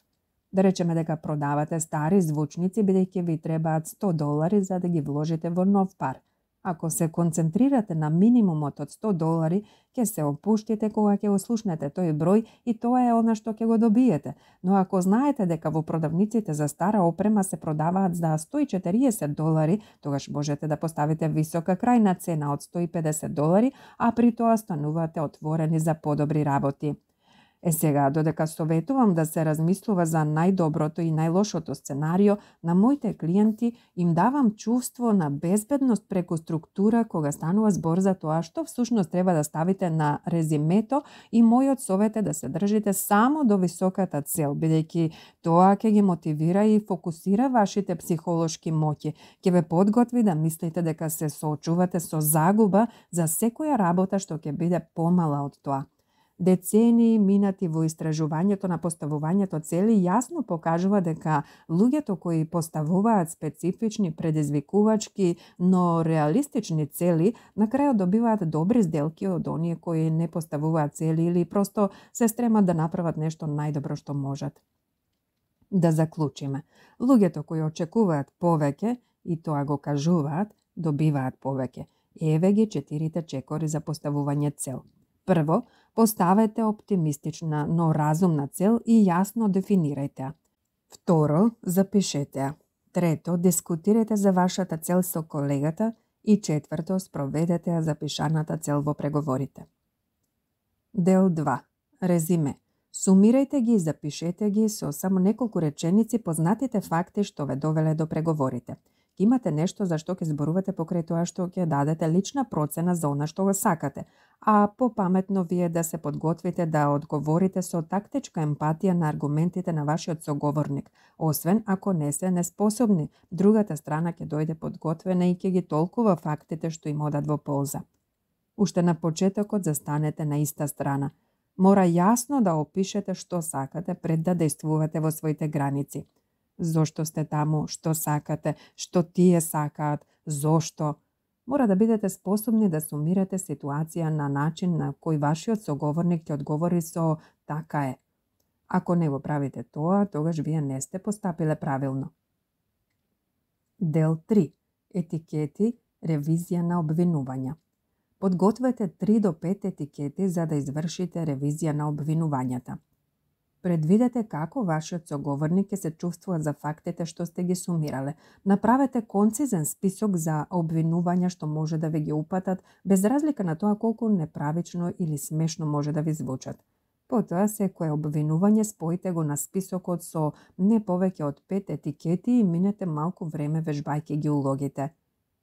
Speaker 1: Да речеме дека продавате стари звучници бидејќи ви требаат $100 за да ги вложите во нов пар. Ако се концентрирате на минимумот од $100, ќе се опуштите кога ќе ослушнете тој број и тоа е она што ќе го добиете. Но ако знаете дека во продавниците за стара опрема се продаваат за $140, тогаш можете да поставите висока крајна цена од $150, а при тоа станувате отворени за подобри работи. Сега, додека советувам да се размислува за најдоброто и најлошото сценарио, на моите клиенти им давам чувство на безбедност преку структура кога станува збор за тоа што всушност треба да ставите на резимето и мојот совет е да се држите само до високата цел, бидејќи тоа ќе ги мотивира и фокусира вашите психолошки моќи, ќе ве подготви да мислите дека се соочувате со загуба за секоја работа што ќе биде помала од тоа. Децении минати во истражувањето на поставувањето цели јасно покажува дека луѓето кои поставуваат специфични, предизвикувачки, но реалистични цели, на крајот добиваат добри сделки од оние кои не поставуваат цели или просто се стремат да направат нешто најдобро што можат. Да заклучиме, луѓето кои очекуваат повеќе и тоа го кажуваат, добиваат повеќе. Еве ги 4 чекори за поставување цел. Прво, поставете оптимистична, но разумна цел и јасно дефинирајте ја. Второ, запишете ја. Трето, дискутирайте за вашата цел со колегата и четврто, спроведете ја запишаната цел во преговорите. Дел 2. Резиме. Сумирајте ги и запишете ги со само неколку реченици познатите факти што ве довеле до преговорите. Имате нешто за што ќе зборувате покрај тоа што ќе дадете лична процена за она што го сакате, а попаметно ви е да се подготвите да одговорите со тактичка емпатија на аргументите на вашиот соговорник, освен ако не се неспособни, другата страна ќе дојде подготвена и ќе ги толкува фактите што им одат во полза. Уште на почетокот застанете на иста страна. Мора јасно да опишете што сакате пред да действувате во своите граници. Зошто сте таму, што сакате, што тие сакаат, зошто. Мора да бидете способни да сумирате ситуација на начин на кој вашиот соговорник ќе одговори со така е. Ако не го правите тоа, тогаш вие не сте постапиле правилно. Дел 3. Етикети, ревизија на обвинувања. Подгответе 3 до 5 етикети за да извршите ревизија на обвинувањата. Предвидете како вашиот соговорник ќе се чувствува за фактите што сте ги сумирале. Направете концизен список за обвинувања што може да ви ги упатат, без разлика на тоа колку неправично или смешно може да ви звучат. Потоа, секое обвинување споите го на списокот со не повеќе од 5 етикети и минете малку време вежбајќи ги улогите.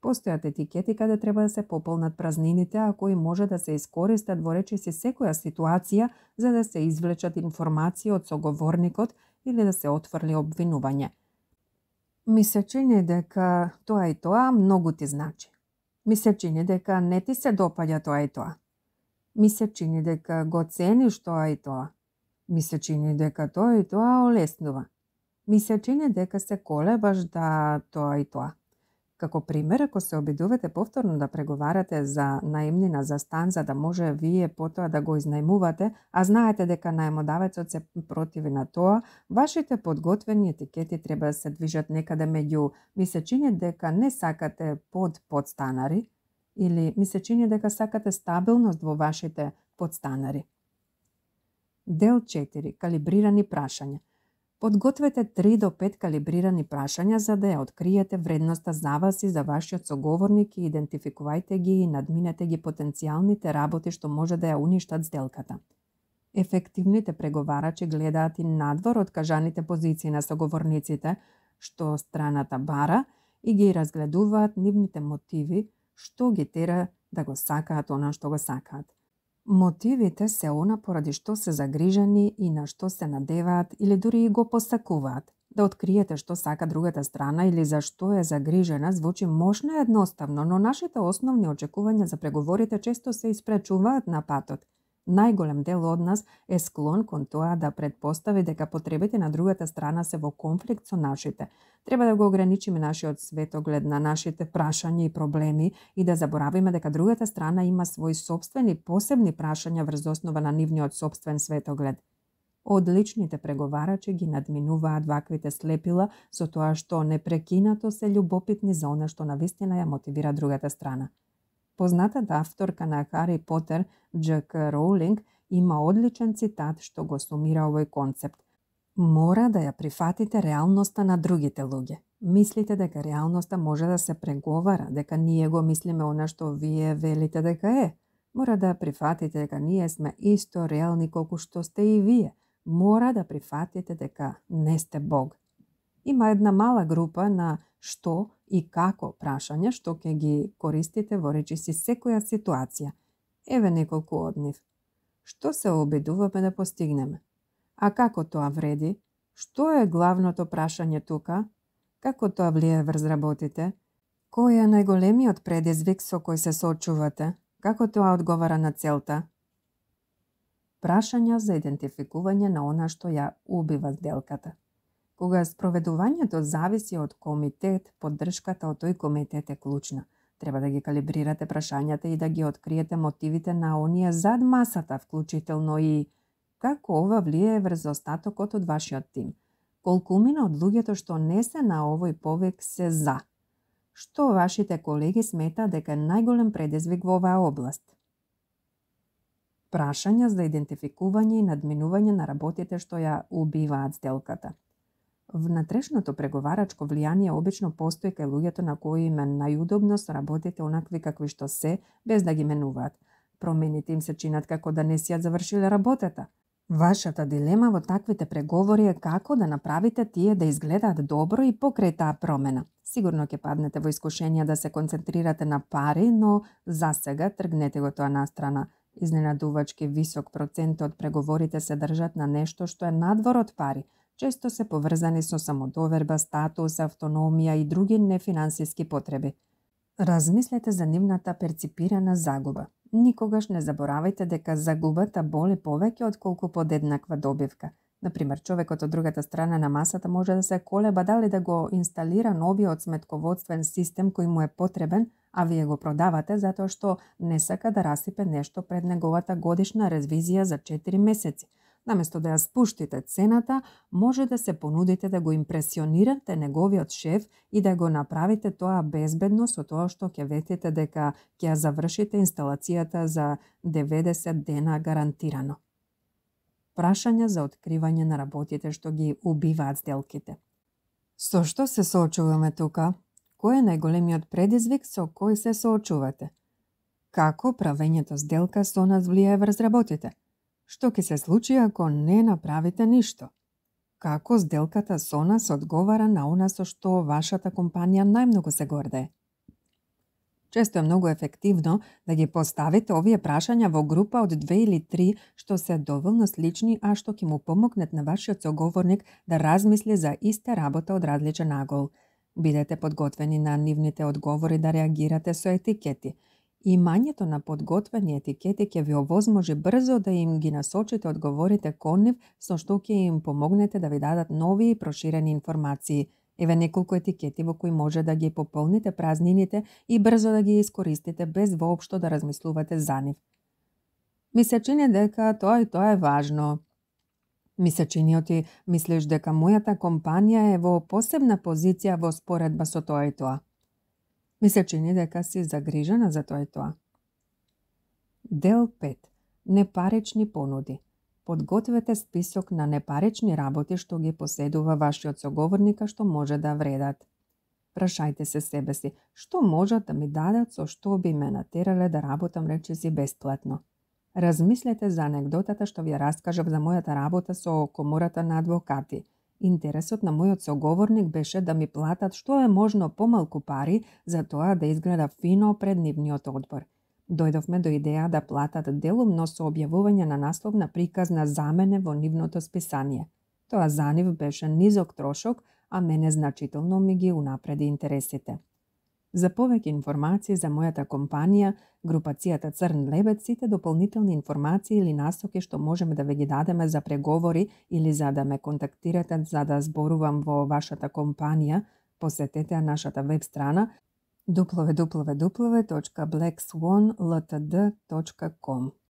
Speaker 1: Постојат етикети каде треба да се пополнат празнините, а кои може да се искористат во речиси секоја ситуација за да се извлечат информации од соговорникот или да се отфрли обвинување. Ми се чини дека тоа и тоа многу ти значи. Ми се чини дека не ти се допаѓа тоа и тоа. Ми се чини дека го цениш тоа и тоа. Ми се чини дека тоа и тоа олеснува. Ми се чини дека се колебаш да тоа и тоа. Како пример, ако се обидувате повторно да преговарате за наемнина за стан за да може вие потоа да го изнајмувате, а знаете дека наемодавецот се противи на тоа, вашите подготвени етикети треба да се движат некаде меѓу ми се чини дека не сакате подстанари или ми се чини дека сакате стабилност во вашите подстанари. Дел 4. Калибрирани прашања. Подгответе 3 до 5 калибрирани прашања за да ја откриете вредноста за вас и за вашиот соговорник и идентификувајте ги и надминете ги потенцијалните работи што може да ја уништат сделката. Ефективните преговарачи гледаат и надвор од кажаните позиции на соговорниците, што страната бара, и ги разгледуваат нивните мотиви, што ги тера да го сакаат она што го сакаат. Мотивите се она поради што се загрижени и на што се надеваат или дури и го посакуваат. Да откриете што сака другата страна или за што е загрижена звучи мощно едноставно, но нашите основни очекувања за преговорите често се испречуваат на патот. Најголем дел од нас е склон кон тоа да предпостави дека потребите на другата страна се во конфликт со нашите. Треба да го ограничиме нашиот светоглед на нашите прашања и проблеми и да заборавиме дека другата страна има свои сопствени посебни прашања врз основа на нивниот сопствен светоглед. Одличните преговарачи ги надминуваат ваквите слепила со тоа што непрекинато се љубопитни за она што навистина ја мотивира другата страна. Познатата авторка на Хари Потер, Дж.К. Роулинг, има одличен цитат што го сумира овој концепт. Мора да ја прифатите реалноста на другите луѓе. Мислите дека реалноста може да се преговара, дека ние го мислиме она што вие велите дека е. Мора да прифатите дека ние сме исто реални колку што сте и вие. Мора да прифатите дека не сте Бог. Има една мала група на што и како прашања што ќе ги користите во речиси секоја ситуација. Еве неколку од нив. Што се обидуваме да постигнеме? А како тоа вреди? Што е главното прашање тука? Како тоа влие врз работите? Кој е најголемиот предизвик со кој се соочувате? Како тоа одговара на целта? Прашања за идентификување на она што ја убива сделката. Кога спроведувањето зависи од комитет, поддршката од тој комитет е клучна. Треба да ги калибрирате прашањата и да ги откриете мотивите на оние зад масата, вклучително и како ова влие врз остатокот од вашиот тим. Колкумина од луѓето што не се на овој повик се за. Што вашите колеги смета дека е најголем предизвик во оваа област? Прашања за идентификување и надминување на работите што ја убиваат сделката. Внатрешното преговарачко влијание обично постои кај луѓето на кои им е најудобно со работите онакви какви што се, без да ги менуваат. Промените им се чинат како да не си ја завршиле работата. Вашата дилема во таквите преговори е како да направите тие да изгледаат добро и покрај таа промена. Сигурно ќе паднете во искушение да се концентрирате на пари, но за сега тргнете го тоа настрана. Изненадувачки висок процент од преговорите се држат на нешто што е надвор од пари. Често се поврзани со самодоверба, статус, автономија и други нефинансиски потреби. Размислете за нивната перципирана загуба. Никогаш не заборавајте дека загубата боли повеќе отколку подеднаква добивка. Например, човекот од другата страна на масата може да се колеба дали да го инсталира новиот сметководствен систем кој му е потребен, а вие го продавате затоа што не сака да расипе нешто пред неговата годишна ревизија за 4 месеци. Наместо да ја спуштите цената, може да се понудите да го импресионирате неговиот шеф и да го направите тоа безбедно со тоа што ќе ветите дека ќе ја завршите инсталацијата за 90 дена гарантирано. Прашања за откривање на работите што ги убиваат сделките. Со што се соочуваме тука? Кој е најголемиот предизвик со кој се соочувате? Како правењето сделка со нас влијае врз работите? Што ќе се случи ако не направите ништо? Како сделката со нас одговара на она со што вашата компанија најмногу се гордее? Често е многу ефективно да ги поставите овие прашања во група од 2 или 3 што се доволно слични, а што ќе му помогнат на вашиот соговорник да размисли за иста работа од различен агол. Бидете подготвени на нивните одговори да реагирате со етикети. Имањето на подготвени етикети ќе ви овозможи брзо да им ги насочите одговорите кон нив, со што ќе им помогнете да ви дадат нови и проширени информации. Еве неколку етикети во кои може да ги пополните празнините и брзо да ги искористите без воопшто да размислувате за нив. Ми се чини дека тоа и тоа е важно. Ми се чини оти мислиш дека мојата компанија е во посебна позиција во споредба со тоа и тоа. Ми се чини дека си загрижена за тоа и тоа. Дел 5. Непарични понуди. Подгответе список на непарични работи што ги поседува вашиот соговорника што може да вредат. Прашајте се себе си, што можат да ми дадат со што би ме натерале да работам речиси бесплатно. Размислете за анегдотата што ви ја раскажав за мојата работа со комората на адвокати. Интересот на мојот соговорник беше да ми платат што е можно помалку пари за тоа да изгледа фино пред нивниот одбор. Дојдовме до идеја да платат делумно со објавување на насловна приказна за мене во нивното списание. Тоа за нив беше низок трошок, а мене значително ми ги унапреди интересите. За повеќе информации за мојата компанија, групацијата Црн лебед, сите дополнителни информации или насоки што можеме да ве ги дадеме за преговори или за да ме контактирате за да зборувам во вашата компанија, посетете нашата веб страна www.blackswanltd.com.